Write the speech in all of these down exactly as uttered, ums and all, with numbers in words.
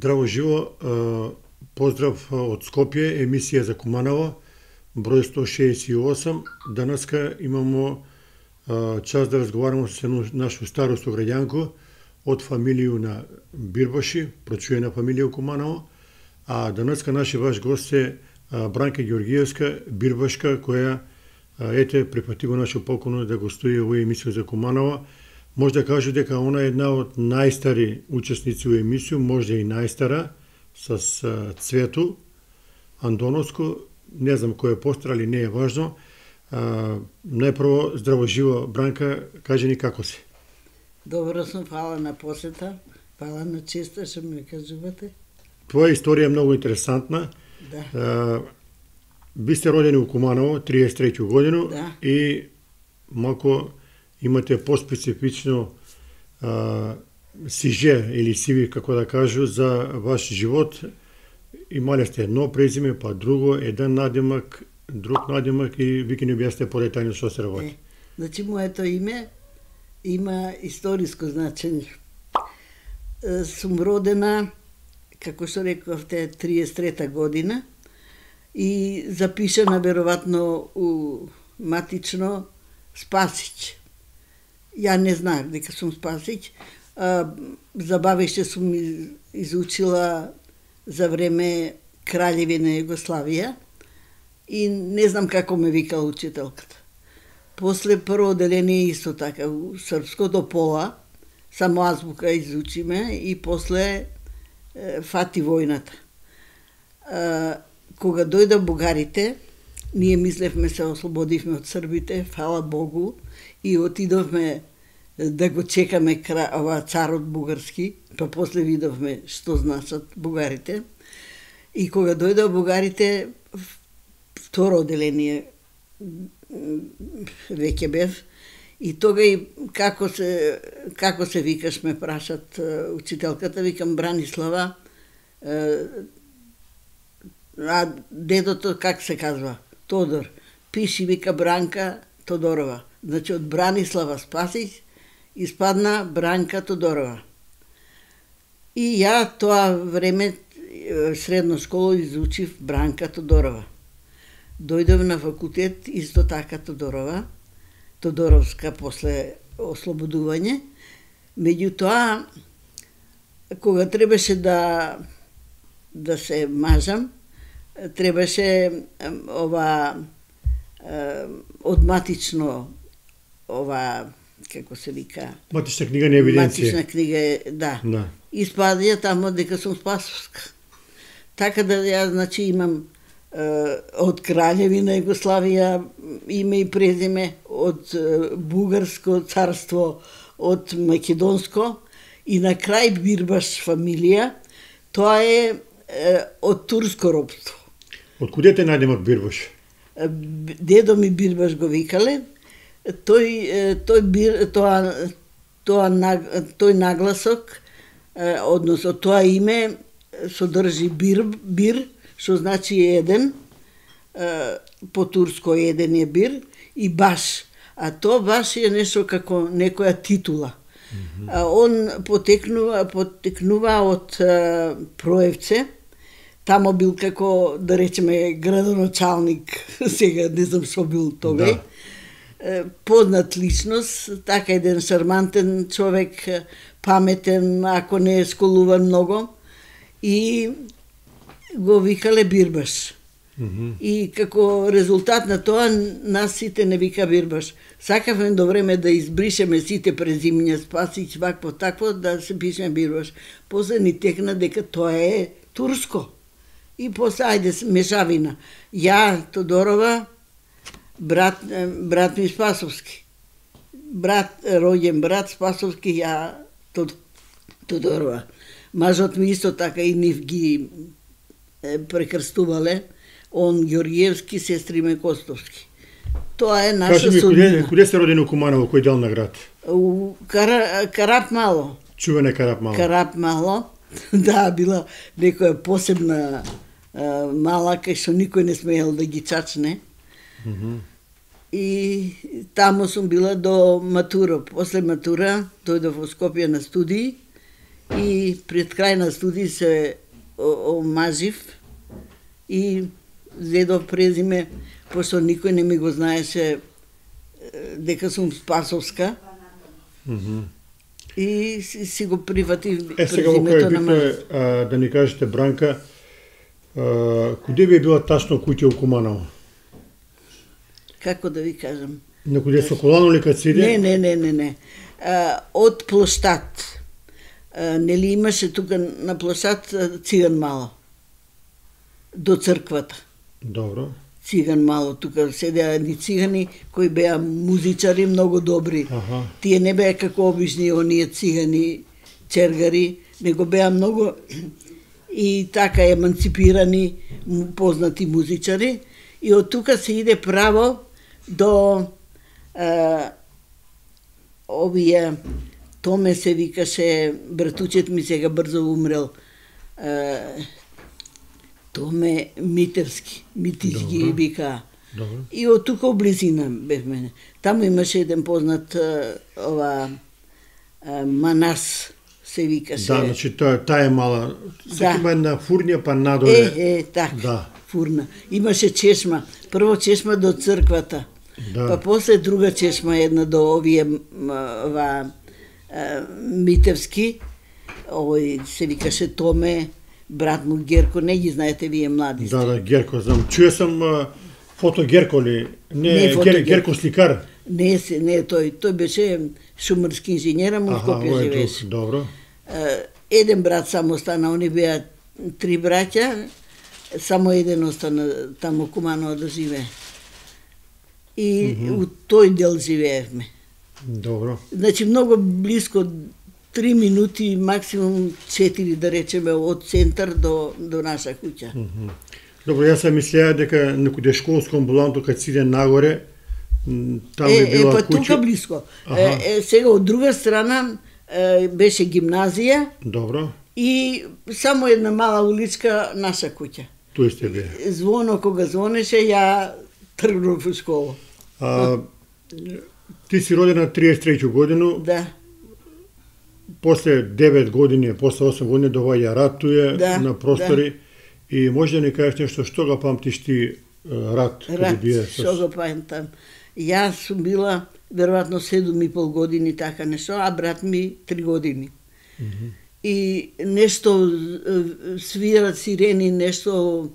Здраво живо, поздрав од Скопје, емисија за Куманово, број сто шеесет и осум. Данаска имамо час да разговараме со нашу старо сограѓанко од фамилију на Бирбаши, прочуена фамилија Куманово, а данаска наши ваш гост е Бранка Ѓоргиевска, Бирбашка, која ете припати го нашо поконо да гостува во емисија за Куманово. Може да кажу дека она е една од најстари учесници во емисија, може и најстара, с Цвету Андоновско, не знам кој е постар, али не е важно. А, најпрво, здраво живо, Бранка, кажи ни како си? Добро сум, фала на посета, фала на честа што ме кажувате. Твоја историја е многу интересантна. Да. А, ви сте родени у Куманово, триесет и трета година, да. И малку имате поспецифично а, сиже или сиви, како да кажу, за ваш живот. Имале сте едно презиме, па друго, еден надимак, друг надимак и ви ќе ни објасните подетајно што се работи. Е, значи, моето име има историско значење. Е, сум родена, како што рековте, триесет и трета година и запишана веројатно у матично Спасич. Ја не знаев дека сум Спасич. Забавеше сум изучила за време Краљевина Југославија и не знам како ме викала учителката. После прво оделение исто така, у српското пола, само азбука изучиме и после е, фати војната. Е, кога дојда бугарите, ние мислевме се ослободивме од србите, фала Богу, и отидовме да го чекаме кра... ова царот бугарски, па после видовме што значат бугарите. И кога дојда бугарите, второ оделение веќе бев, и тога и како се, како се викаш, ме прашат учителката, викам Бранислава, а дедото как се казва? Тодор. Пиши, вика Бранка Тодорова. Значи од Бранислава Спасич испадна Бранка Тодорова. И ја тоа време средно школа изучив Бранка Тодорова. Дојдов на факултет исто така Тодорова, Тодоровска после ослободување. Меѓутоа, кога требаше да да се мажам, требаше ова од матично ова како се вика матична книга на евиденција. Матична книга, да. Да. Испадија тамо дека сум Спасовска. Така да ја значи имам е, од Краљевина Југославија име и презиме, од е, Бугарско царство, од Македонско и на крај Бирбаш фамилија. Тоа е, е од турско робство. Од куде те надимак Бирбаш? Дедо ми Бирбаш го викале. Тој тој бир тоа тоа тој нагласок, односно тоа име содржи бир бир, што значи еден, по турско еден е бир и баш, а тоа баш е нешто како некоја титула. Mm -hmm. Он потекнува потекнува од Проевце. Тамо бил како, да речеме, градоначалник, сега не знам што бил тогај. Да. Познат личност, така еден шармантен човек, паметен, ако не е школуван многу, и го викале Бирбаш. Mm -hmm. И како резултат на тоа, нас сите не вика Бирбаш. Сакавме до време да избришеме сите презимиња, Спасич, вакво, такво, да се пишеме Бирбаш. После ни текна дека тоа е турско. И после, ајде, мешавина. Ја, Тодорова, брат, брат ми Спасовски. Брат, роѓен брат Спасовски, ја Тодорова. Мажот ми исто така и нив ги прекрстувале. Он Ѓоргиевски, сестри ме Костовски. Тоа е наша судбина. Куде, куде сте родени у Куманово, кој дел на град? У Кара, Карап Мало. Чуване Карап Мало. Карап Мало. Да, била некоја посебна а, мала, кај што никој не смеел да ги чачне. Mm -hmm. И таму сум била до матура. После матура дојдов во Скопје на студии и пред крај на студии се омажив и зедов презиме, пошто никој не ми го знаеше дека сум Спасовска. Mm -hmm. И си, си го прифатив презимето. Е, сега во кој битно е, а, да ни кажете, Бранка, а, куде би била тачно куќа у Куманово? Како да ви кажам? На куде со колано ли кад сиде? Не, не, не, не, не. А, од площад. А, нели имаше тука на площад циган мало. До црквата. Добро. Циган мало, тука седеа едни цигани кои беа музичари многу добри. Аха. Тие не беа како обични оние цигани, чергари, него беа многу и така еманципирани, познати музичари. И од тука се иде право до а, овие, Томе се викаше, братучет ми сега брзо умрел, а, Томе Митевски, Митички вика. Добро. И од тука облизина бевме. Таму имаше еден познат а, ова а, Манас се викаше. Да, значи таа та е мала. Сега Да. има една фурња па надоле. Е, е, така. Да. Фурна. Имаше чешма. Прво чешма до црквата. Да. Па после друга чешма една до овие м, ова а, Митевски. Овој се викаше Томе, брат му Герко, не ги знаете вие млади сте. Да, да, Герко знам. Чуе сам а, фото Герко ли? Не, Не, фото Гер, Герко. Герко сликар. Не, се, не тој, тој беше шумарски инженер, а му Аха, Скопје ово е живееше. друг. Добро. Е, Еден брат само остана, они беа три браќа, само еден остана таму Куманово да живее. И mm -hmm. у тој дел живеевме. Добро. Значи многу близко, три минути, максимум четири да речеме од центар до до наша куќа. Mm -hmm. Добро, јас се мислеа дека некоде школско амбуланто кад сиде нагоре, м, таму Е, е е, била па куќа. тука близко. Аха. Е, е, сега од друга страна е, беше гимназија Добро. и само една мала уличка наша куќа. Тој сте бе. Звоно кога звонеше, ја тргнав во школа. А, ти си родена триесет и трета годину, Да, после девет години, после осем години доваѓа рат туе Да, на простори и може да ни кажеш нешто што го памтиш ти рат, каде рад, бие што го памтам. Јас сум била веројатно седум и пол години, така нешто, а брат ми три години. Мгм. И нешто е, свират сирени, нешто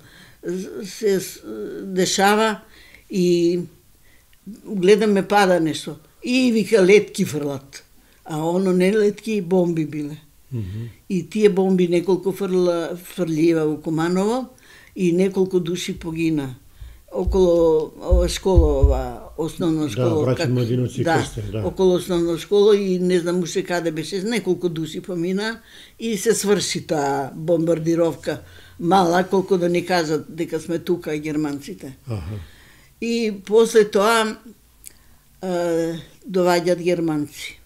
се с- дешава и гледаме пада нешто. И вика летки фрлат. А оно не летки, бомби биле. Мгм. И тие бомби неколку фрла, фрлива во Куманово и неколку души погина. Около ова школа, ова основна школа. браќа как- Младиновци да, Крстев, да. около основна школа и не знам уште каде беше, неколку души помина и се сврши таа бомбардировка. Мала, колку да ни кажат дека сме тука германците. Аха. И после тоа е, доваѓат германци.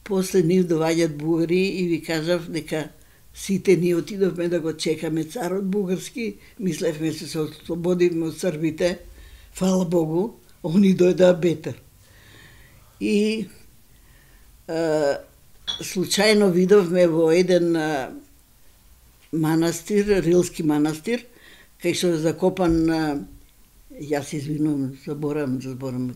После нив доваѓат бугари и ви кажав дека сите ние отидовме да го чекаме царот бугарски, мислевме се се ослободиме од србите, фала Богу, они дојдаа бетер. И е, случајно видовме во еден е, манастир, рилски манастир, кај што е закопан, е, јас се извинувам, заборам, заборам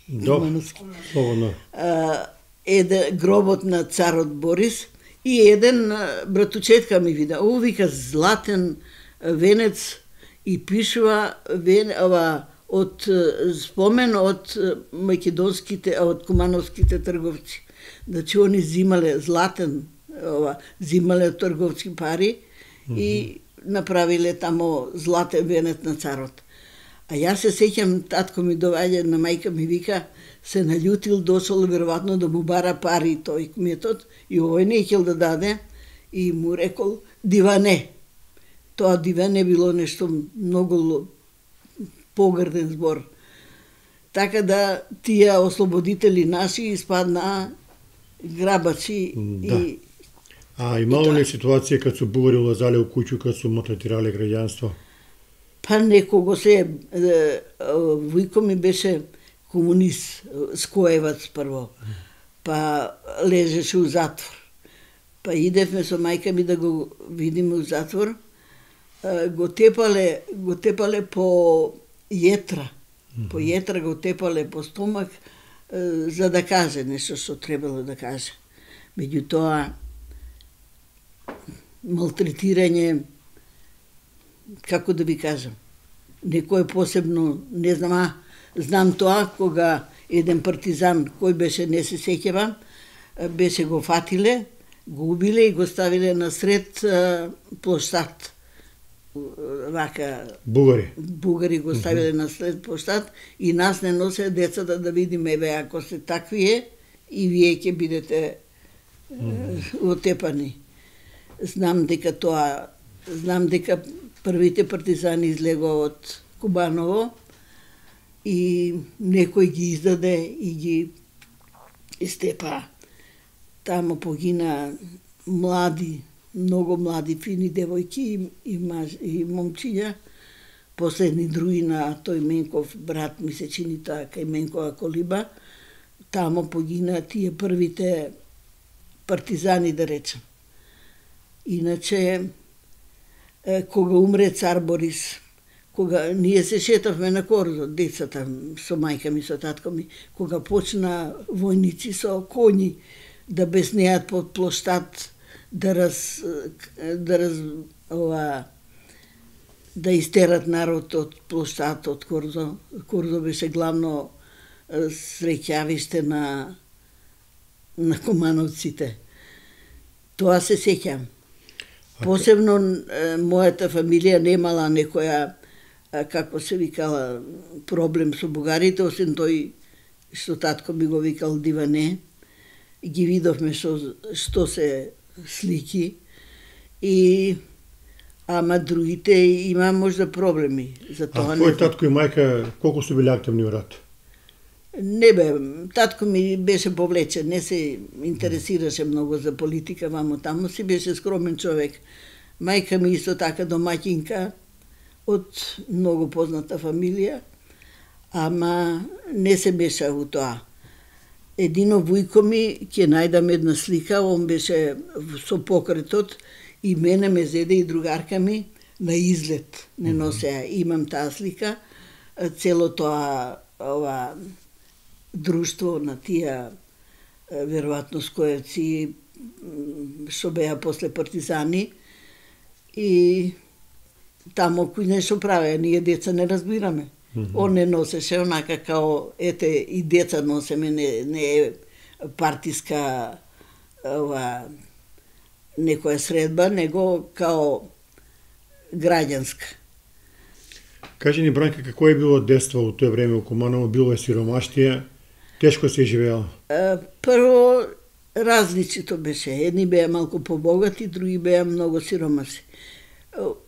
Добро. манастир. Слободно. А, еде гробот на царот Борис и еден а, братучетка ми вида. Ово вика златен а, венец и пишува вен, ова, од а, спомен од а, македонските, а, од кумановските трговци. Значи они зимале златен, ова, зимале од трговски пари mm -hmm. и направиле тамо златен венец на царот. А јас се сеќам, татко ми доваѓа на мајка ми вика, се наљутил, дошол веројатно да му бара пари тој кметот и овој не ќел да даде и му рекол диване. Тоа диване било нешто многу ло- погрден збор. Така да тие ослободители наши испаднаа грабачи Да. и А имало ли ситуација кад се бугари улазале у куќу, кад се малтретирале граѓанство? па некого се е, вујко ми беше комунист, скоевац прво, па лежеше у затвор. Па идевме со мајка ми да го видиме у затвор. Го тепале, го тепале по јетра. Mm-hmm. По јетра го тепале по стомак, за да каже нешто што требало да каже. Меѓутоа, малтретирање, како да ви кажам, некој посебно, не знам, а, знам тоа, кога еден партизан, кој беше, не се сеќавам, беше го фатиле, го убиле и го ставиле насред площад. Вака... Бугари. Бугари го ставиле mm-hmm. насред площад и нас не носе децата да видиме, еве, ако се таквие, и вие ќе бидете mm-hmm. отепани. Знам дека тоа, знам дека првите партизани излегоа од Кубаново и некој ги издаде и ги истепа. Тамо погина млади, многу млади, фини девојки и, и, маж, и момчиња. Последни други на тој Менков брат, ми се чини тоа, кај Менкова колиба. Тамо погина тие првите партизани, да речем. Иначе, кога умре цар Борис, кога ние се шетавме на кордо, децата со мајка ми, со татко ми, кога почна војници со коњи да беснеат под площад, да раз, да раз, ова, да истерат народ од площад, од Кордо. Кордо беше главно среќавиште на на кумановците. Тоа се сеќам. Посебно мојата фамилија немала некоја, како се викала, проблем со бугарите, освен тој што татко ми го викал Диване. Ги видовме што, што се слики и ама другите има можда проблеми. За тоа а твој татко и мајка колку су били активни во рат? Не бе, татко ми беше повлечен, не се интересираше многу за политика, вамо таму си беше скромен човек. Мајка ми исто така домаќинка од многу позната фамилија, ама не се беше у тоа. Едино вујко ми ќе најдам една слика, он беше со покретот и мене ме зеде и другарка ми на излет не носеа. Имам таа слика, цело тоа ова друштво на тие веројатно скојевци што беа после партизани и тамо кој нешто правеа, ние деца не разбираме. Mm-hmm. Он не носеше онака као, ете, и деца носеме, не, не е партиска ова, некоја средба, него као граѓанска. Кажи ни, Бранка, какво е било детство во тоа време во Куманово? Било е сиромаштија? Тешко се живеело? Прво, различито беше. Едни беа малку побогати, други беа многу сиромаси.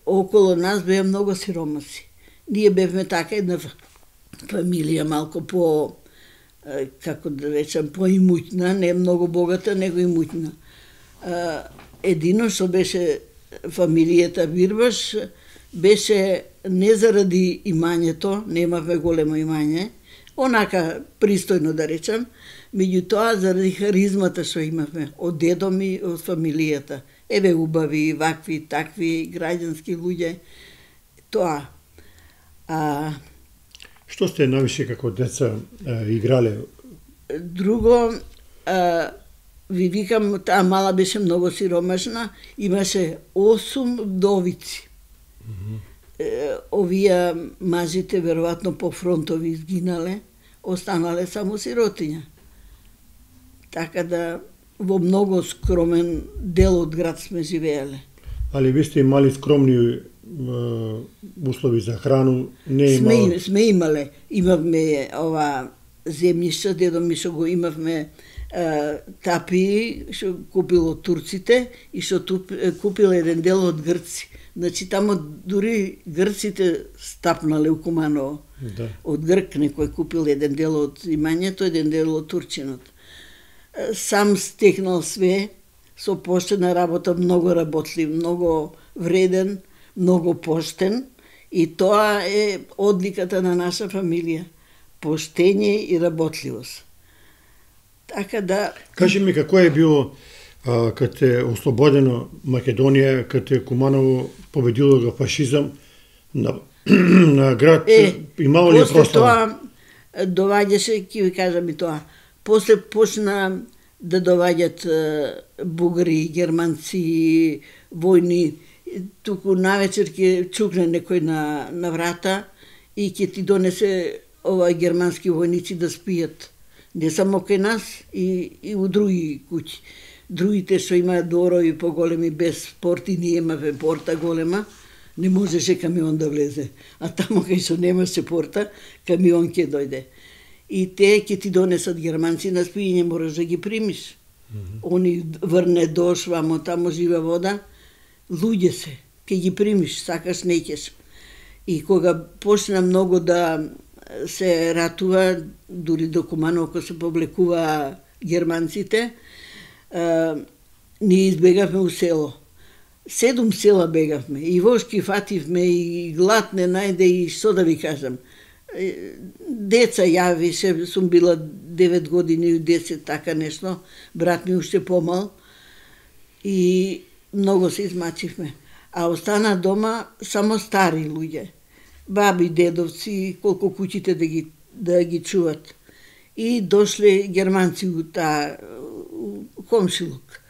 Около нас беа многу сиромаси. Ние бевме така една фамилија малку по, како да речам, поимуќна, не многу богата, него имуќна. Едино што беше фамилијата Бирбаш, беше не заради имањето, немавме големо имање, онака пристојно да речам, меѓутоа заради харизмата што имавме од дедо ми, од фамилијата. Еве убави, вакви, такви, граѓански луѓе, тоа. А... Што сте највише како деца а, играле? Друго, а, ви викам, таа мала беше многу сиромашна, имаше осум вдовици. Mm-hmm. Е, овие мажите веројатно по фронтови изгинале, останале само сиротиња. Така да во многу скромен дел од град сме живееле. Али ви сте имали скромни услови за храну, не имало... Сме, сме имале. Имавме ова земјишта, дедо ми што го имавме е, тапи, што купил од турците и што купил еден дел од грци. Значи, тамо дури грците стапнале у Куманово. Да. Од грк некој купил еден дел од имањето, еден дел од турчинот. Сам стекнал све, со поштена работа, многу работлив, многу вреден, многу поштен и тоа е одликата на наша фамилија. Поштење и работливост. Така да... Кажи ми, како е било а, кад е ослободено Македонија, кад е Куманово победило го фашизам на, на град, е, имало ли прослава? После тоа доваѓаше, ќе ви кажам и тоа, после почна да доваѓат бугари, германци, војни, туку навечер ќе чукне некој на, на врата и ќе ти донесе ова германски војници да спијат. Не само кај нас, и, и у други куќи. Другите што имаат дворови поголеми без порти, ние имаме порта голема, не можеше камион да влезе. А тамо кај што немаше порта, камион ќе дојде. И те ќе ти донесат германци на спиење, мораш да ги примиш. Mm -hmm. Они врне дош, вамо тамо живе вода, луѓе се, ќе ги примиш, сакаш, неќеш. И кога почна многу да се ратува, дури до Куманово, кога се повлекува германците, а, ние избегавме у село. Седум села бегавме, и вошки фативме, и глад не најде, и што да ви кажам. Деца ја више, сум била девет години, десет, така нешто, брат ми уште помал, и многу се измачивме. А остана дома само стари луѓе, баби, дедовци, колку куќите да ги, да ги чуват. И дошле германци у таа комшилук.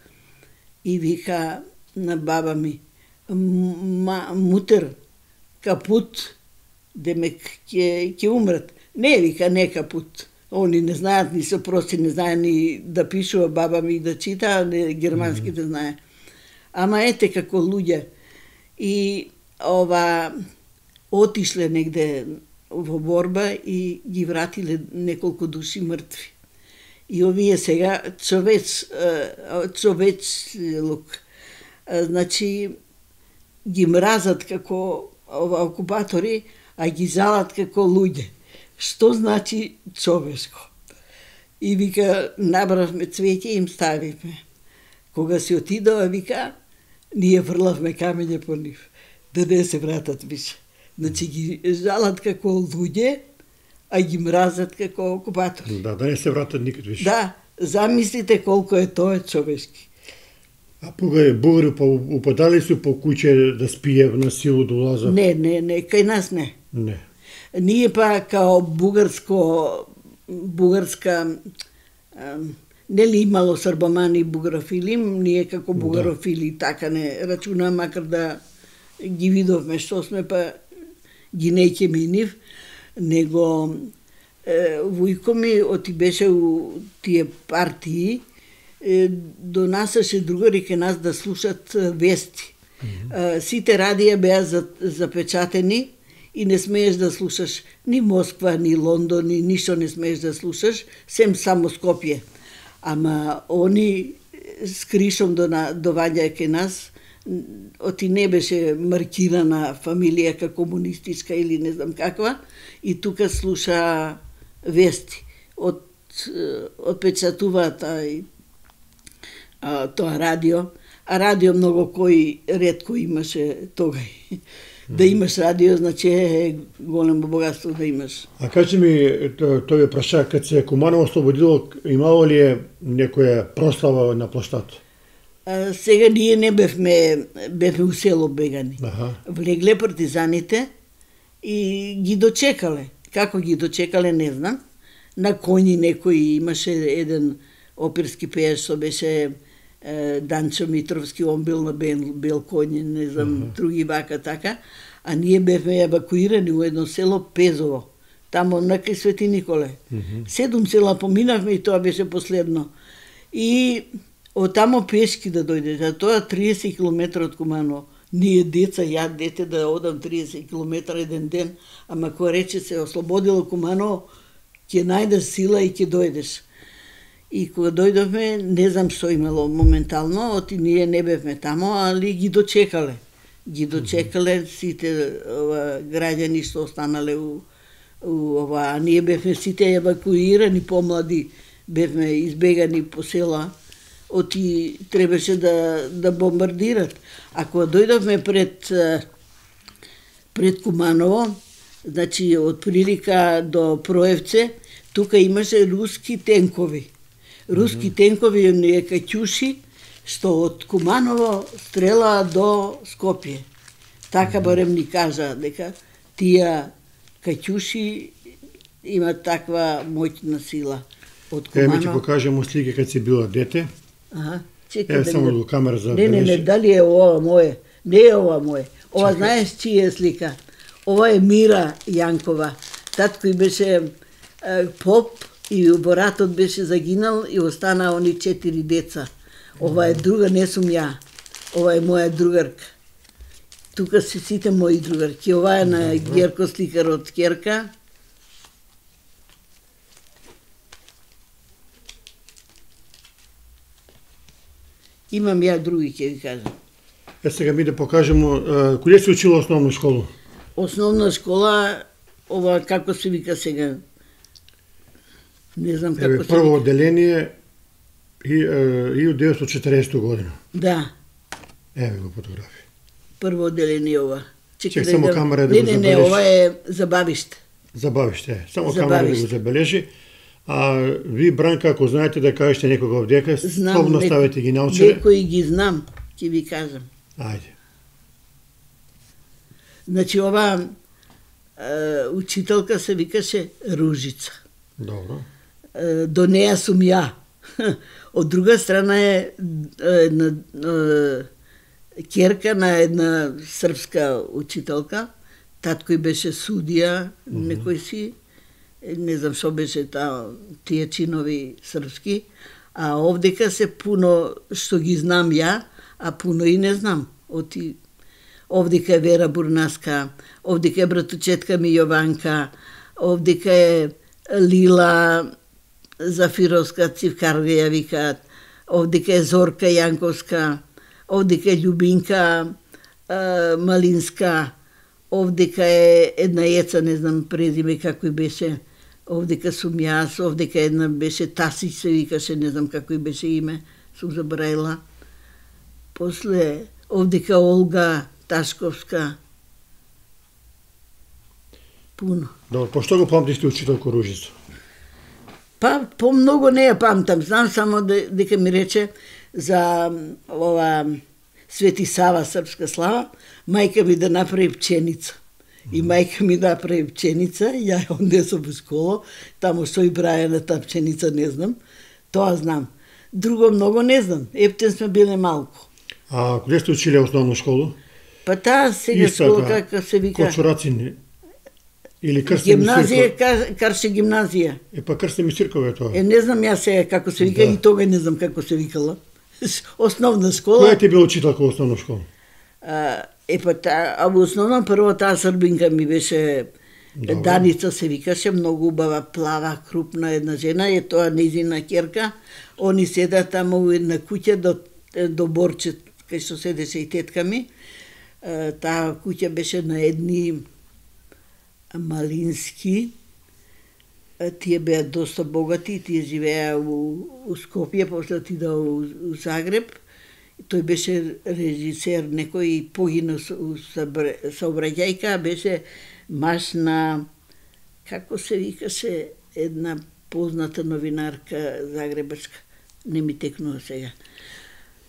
И вика на баба ми, мутер, капут, демек ќе ќе умрат. Не, вика, не капут. Они не знаат ни се прости, не знаат ни да пишува, баба ми да чита, не германски да знае. Ама ете како луѓе. И ова отишле негде во борба и ги вратиле неколку души мртви. И овие сега човеч, човеч лук. Значи, ги мразат како ова окупатори, а ги жалат како луѓе. Што значи човешко? И вика, набравме цвеќе и им ставивме. Кога се отидова, вика, ние врлавме камење по нив, да не се вратат више. Значи ги жалат како луѓе, а ги мразат како окупатори. Да, да не се вратат никад више. Да, замислите колку е тоа човешки. А бугари, бугари упадали су по куќе да спие на силу да улазат? Не, не, не, кај нас не. Не. Ние па као бугарско, бугарска, нели имало србомани и бугарофили, ние како бугарофили да. Така не рачуна, макар да ги видовме што сме, па ги неќеме и нив, него е, вујко ми оти беше у тие партии, е, донасаше другари ке нас да слушат вести. Mm-hmm. Сите радија беа запечатени и не смееш да слушаш ни Москва, ни Лондон, ни ништо не смееш да слушаш, сем само Скопје. Ама они скришом до доваѓаја ке нас, оти не беше маркирана фамилија како комунистичка или не знам каква, и тука слуша вести. Од отпечатуваат тоа радио, а радио многу кој ретко имаше тогај. Да имаш радио, значи е големо богатство да имаш. А кажи ми, тој ве праша, кад се Куманово ослободило, имало ли е некоја прослава на площад? А, сега ние не бевме, бевме у село бегани. Аха. Влегле партизаните и ги дочекале. Како ги дочекале, не знам. На коњи некој имаше еден оперски пееш, што беше Данчо Митровски, он бил на бел, бел коњи, не знам, uh -huh. други вака така, а ние бевме евакуирани у едно село Пезово, тамо на кај Свети Николе. Uh -huh. Седум села поминавме и тоа беше последно. И од тамо пешки да дојдете, а тоа триесет километри од Куманово. Ние деца, ја дете да одам триесет километри еден ден, ама кој рече се ослободило Куманово, ќе најдеш сила и ќе дојдеш. И кога дојдовме, не знам што имало моментално, оти ние не бевме тамо, али ги дочекале. Ги дочекале сите ова, граѓани што останале у, у ова, а ние бевме сите евакуирани, помлади, бевме избегани по села, оти требаше да, да бомбардират. А кога дојдовме пред, пред Куманово, значи од прилика до Проевце, тука имаше руски тенкови. Руски mm -hmm. тенкови, оние каќуши, што од Куманово стрела до Скопје. Така барем ни кажа дека тие каќуши имат таква моќна сила од Е, ми Куманово. ќе покажемо слики кога си била дете. Аха, чекай Е, да само ми- до камера за Не, не, не, дали е ова моје? Не е ова моје. Ова Чекај. знаеш чија е слика? Ова е Мира Јанкова. Татко и беше е, поп и боратот беше загинал и остана они четири деца. Ова е друга, не сум ја. Ова е моја другарка. Тука се сите мои другарки. Ова е на Герко сликар од Керка. Имам ја други, ќе ви кажам. Е, сега ми да покажемо, е, каде се учила основна школа? Основна школа, ова како се вика сега? Не знам како Еве, се прво вика. одделение и е, и од деветстотини и четиресета година. Да, Еве го фотографија. прво одделение ова. Чек, да само да- камера да не, го не, не, забележи. ова е забавиште. Забавиште, е. Само Забавиште. камера да го забележи. А ви, Бранка, ако знаете да кажете некога овдека, Знам, слободно не- ставете ги научаре. Некои ги знам, ќе ви кажам. Ајде. Значи ова е, учителка се викаше Ружица. Добро. Е, до неја сум ја. Од друга страна е една е, керка на една српска учителка. Татко и беше судија, некој си, е, не знам што беше та, тие чинови српски, а овдека се пуно што ги знам ја, а пуно и не знам. Оти, овдека е Вера Бурнаска, овдека е братучетка ми Јованка, овдека е Лила Зафировска, Цивкарга ја викаат, овдека е Зорка Јанковска, овдека е Љубинка е, Малинска, овдека е една јеца, не знам презиме како и беше, овдека сум јас, овдека една беше Таси се викаше, не знам како и беше име, сум забраила. После овдека Олга Ташковска. Пуно. Добро, по што го памтите учителко Ружица? Па, помногу не ја памтам, знам само де- дека ми рече за м, ова Свети Сава, Српска слава, мајка ми да направи пченица. И мајка ми да направи пченица, и ја ја однесов во школа, таму што и браја на таа пченица, не знам. Тоа знам. Друго многу не знам. Ептен сме биле малку. А каде сте училе основна школа? Па таа сега Иста школа, таа, како се вика, Кочурацин или Крстен гимназија, Мисирков? Кар- Карше гимназија. Е, па Крстен Мисирков е тоа. Е, не знам јас сега како се вика, Да. и тога не знам како се викала. Основна Која школа. ти бил учителка во основна школа? А, е па та, а во основном прво таа србинка ми беше Добро. Даница се викаше, многу убава, плава, крупна една жена, е тоа нејзина ќерка. Они седа таму во една куќа до до борче кај што седеше и тетка ми. А, таа куќа беше на едни Малински. А, тие беа доста богати, тие живеа у, у Скопје, после отида у, у Загреб. Тој беше режисер, некој погина у сообраќајка, беше маш на, како се викаше, една позната новинарка загребачка, не ми текнува сега.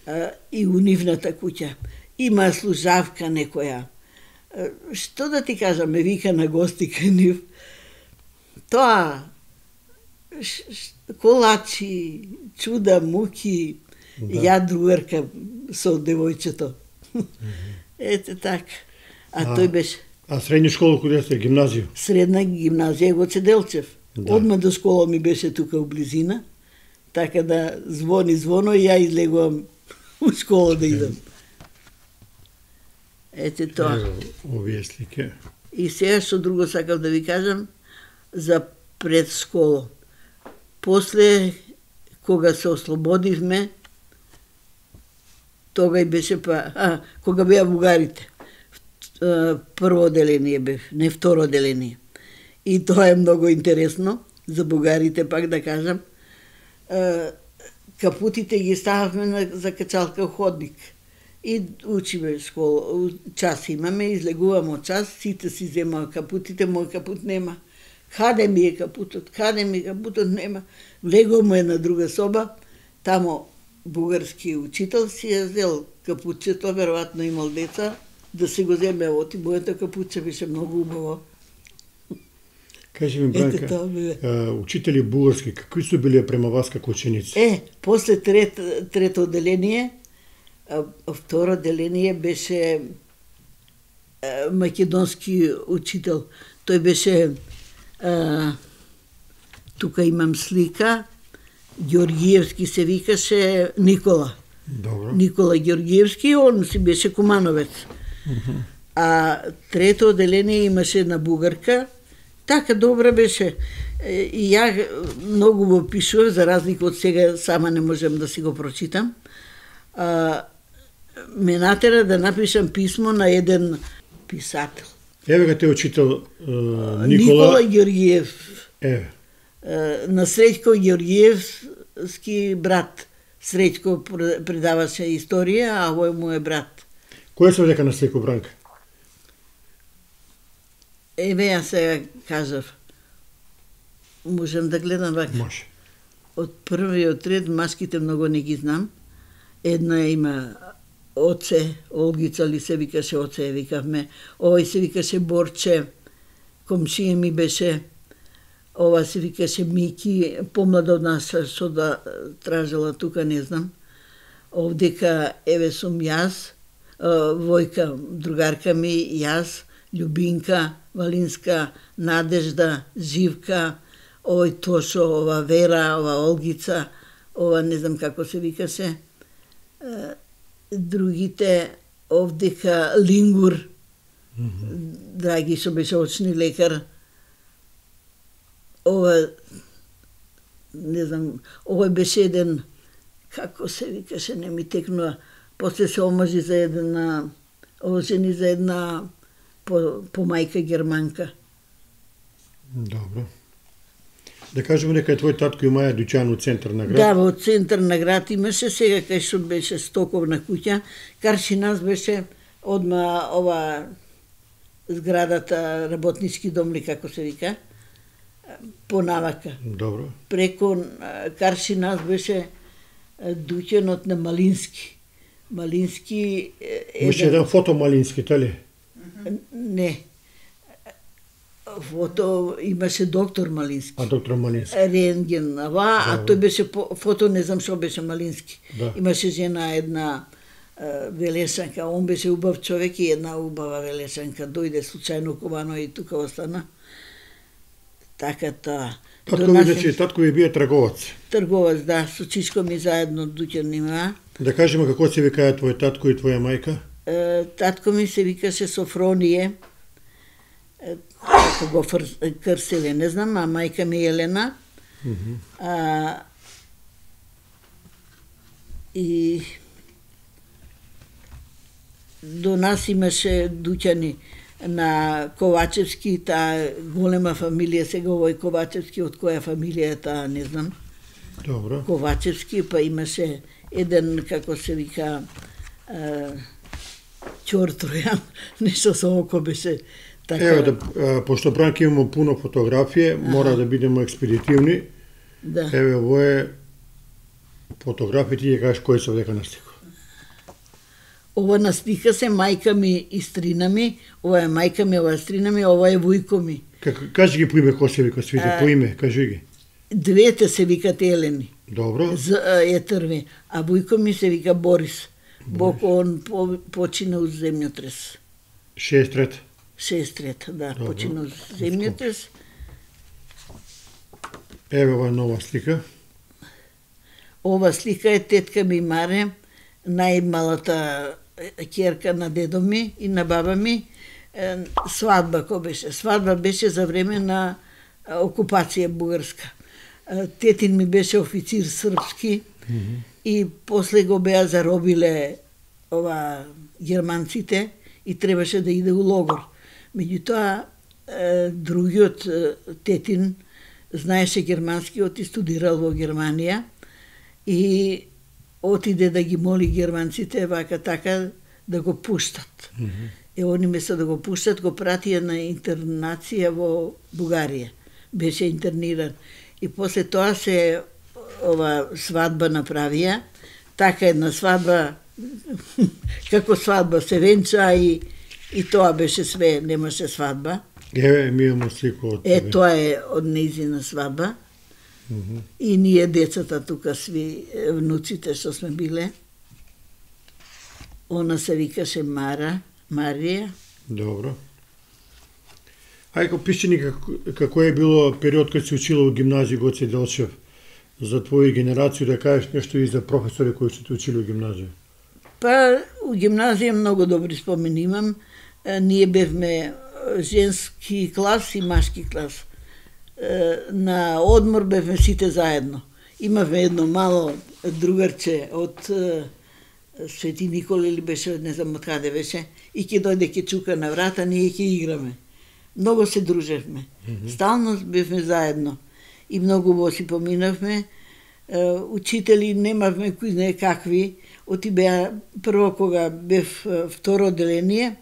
А, и у нивната куќа. Има служавка некоја. А, што да ти кажам, ме вика на гости кај нив. Тоа, ш, ш, колачи, чуда, муки, Да. ја другарка со девојчето. Ете така. А, А, тој беше А средна школа каде сте? Гимназија? средна гимназија Гоце Делчев. Да. Одма до школа ми беше тука у близина, така да звони звоно и ја излегувам у школа да идам. Ете тоа. Ево, овие слики. И сега што друго сакав да ви кажам за пред школа. После, кога се ослободивме, тога и беше па, а, кога беа бугарите. А, Прво одделение бев, не второ одделение. И тоа е многу интересно, за бугарите пак да кажам. А, Капутите ги стававме на закачалка ходник. И учиме школа, час имаме, излегуваме од час, сите си земаа капутите, мој капут нема. Каде ми е капутот, каде ми е капутот нема. Влегуваме на друга соба, тамо бугарски учител си ја зел капучето, веројатно имал деца, да се го земе оти, моето капуче беше многу убаво. Кажи ми, Бранка, а, учители бугарски, какви су биле према вас како ученици? Е, после трет, трето одделение, а, второ одделение беше а, македонски учител. Тој беше, а, тука имам слика, Георгиевски се викаше Никола. Добро. Никола Георгиевски, он си беше кумановец. Uh-huh. А трето одделение имаше една бугарка, така добра беше. И ја многу го пишував, за разлика од сега, сама не можам да си го прочитам. А, ме натера да напишам писмо на еден писател. Еве га те учител uh, Никола... Никола Георгиев. Еве. На Среќко Георгиевски брат. Среќко предаваше историја, а овој му е брат. Кој се дека на Среќко, Бранка? Еве ја сега кажав. Можам да гледам вака? Може. Од првиот ред маските многу не ги знам. Една има Оце, Олгица ли се викаше, Оце викавме. Овој се викаше Борче, комшија ми беше. Ова се викаше Мики, помлада од нас, што да тражела тука, не знам. Овдека, еве сум јас, Војка, другарка ми, јас, Љубинка, Валинска, Надежда, Живка, овој Тошо, ова Вера, ова Олгица, ова не знам како се викаше. Другите, овдека Лингур, mm-hmm. Драги, што беше очни лекар. Ова, не знам, овој беше еден, како се викаше, не ми текнува, после се омажи за една, ожени за една по, по мајка германка. Добро. Да кажеме дека е твој татко имаја дуќан во центар на град? Да, во центар на град имаше, сега кај што беше стоковна куќа, Каршинас беше одма ова зградата, работнички дом ли како се вика, понавака. Добро. Преко Каршинас беше дуќанот на Малински. Малински... Беше еден фото Малински, тали? Не. Фото имаше доктор Малински. А доктор Малински. Рентген, ава, а тој беше фото, не знам што беше Малински. Да. Имаше жена една велешанка, он беше убав човек и една убава велешанка. Дојде случајно Кубано и тука остана. Така та. Татко ви, значи, татко ви бие трговац. Трговац, да, со чичко ми заедно дуќан има. Да кажеме како се викаја твој татко и твоја мајка? Е, татко ми се викаше Софроние. Како го крселе, не знам, а мајка ми Елена. Mm-hmm. А, и до нас имаше дуќани на Ковачевски, таа голема фамилија, сега овој Ковачевски, од која фамилија е таа, не знам. Добро. Ковачевски, па имаше еден, како се вика, Ќортројан, нешто со око беше така. Ево, да, пошто Бранка имamo пуно фотографije, ага. Мора да бидемо експедитивни. Да. Еве, ово е фотографија, ти ја кажеш кој се дека на слика. Ова на слика се мајка ми и стрина ми, ова е мајка ми, ова е стрина ми, ова е вујко ми. Как, кажи ги по име, кој се вика свите, а, по име, кажи ги. Двете се викат Елени. Добро. З, е трви, а вујко ми се вика Борис. Бог он по, почина од земјотрес. шест трета. шест трета, да, добро. Почина од земјотрес. Еве ова нова слика. Ова слика е тетка ми Маре, најмалата ќерка на дедо ми и на баба ми. Свадба кој беше? Свадба беше за време на окупација бугарска. Тетин ми беше официр српски, mm-hmm. и после го беа заробиле ова германците и требаше да иде у логор. Меѓутоа, другиот тетин знаеше германски, оти студирал во Германија и отиде да ги моли германците вака така да го пуштат. Mm-hmm. И они место да го пуштат, го пратија на интернација во Бугарија. Беше интерниран. И после тоа се ова свадба направија, така една свадба, како свадба се венча и, и тоа беше све, немаше свадба. Еве, ми имамо слику од Е, тебе. тоа е од нејзина свадба. Mm -hmm. И ние децата тука сви, внуците што сме биле. Она се викаше Мара, Марија. Добро. Ајко, пиши ни како, како е било период кога се учила во гимназија Гоце Делчев, за твоја генерација, да кажеш нешто и за професори кои се те учили во гимназија. Па, у гимназија многу добри спомени имам. Е, Ние бевме женски клас и машки клас. Е, На одмор бевме сите заедно. Имавме едно мало другарче од е, Свети Никола или беше, не знам од каде беше, и ќе дојде ќе чука на врата, ние ќе играме. Многу се дружевме. Mm -hmm. Стално бевме заедно. И многу во си поминавме. Е, Учители немавме кои знае какви. Оти беа, прво кога бев е, второ одделение,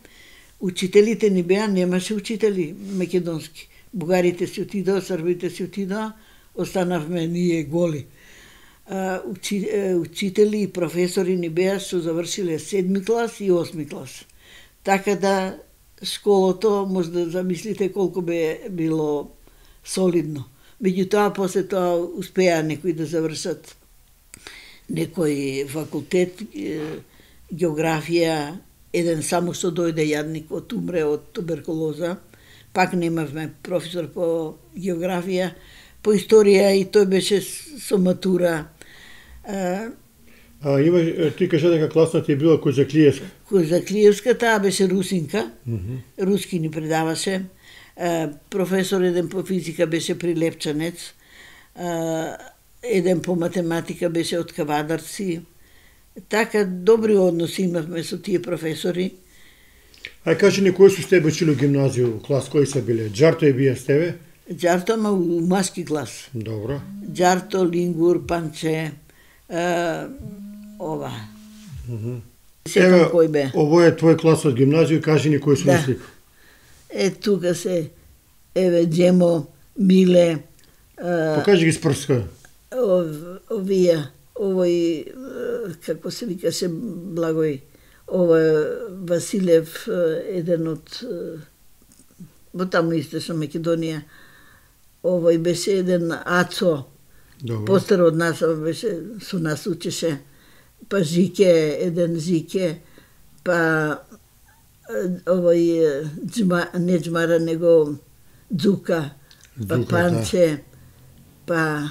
учителите ни беа, немаше учители македонски. Бугарите си отидоа, србите си отидоа, останавме ние голи. А, учи, е, учители и професори ни беа што завршиле седми клас и осми клас. Така да школото, може да замислите колку бе било солидно. Меѓутоа, после тоа успеа некои да завршат некој факултет, е, географија, еден само што дојде јадник од умре од туберкулоза, пак немавме професор по географија, по историја и тој беше со матура. А, А има, ти кажа дека класна ти е била Козаклиевска. Козаклиевска, таа беше русинка, Mm -hmm. руски ни предаваше. А, професор еден по физика беше прилепчанец, а, еден по математика беше од Кавадарци. Така добри односи имавме со тие професори. Ај кажи ни кои су с тебе учили во гимназија, клас кои се биле? Джарто е бија с тебе? Джарто, ама у маски клас. Добро. Джарто, Лингур, Панче, а, ова. Mm -hmm. Сетам кој бе. Ово е твој клас од гимназија, кажи ни кои су Да. на слика. Е, тука се, еве, Джемо, Миле, а, Покажи ги с прска. ов, овие, овој, е, како се викаше, Благој, ова Василев, е, еден од, е, во таму источна Македонија, овој беше еден Ацо, Добро. постар од нас, ова беше, со нас учеше, па Жике, еден Жике, па е, овој е, Джма, не Джмара, него Дзука, па Дзука, Панче, па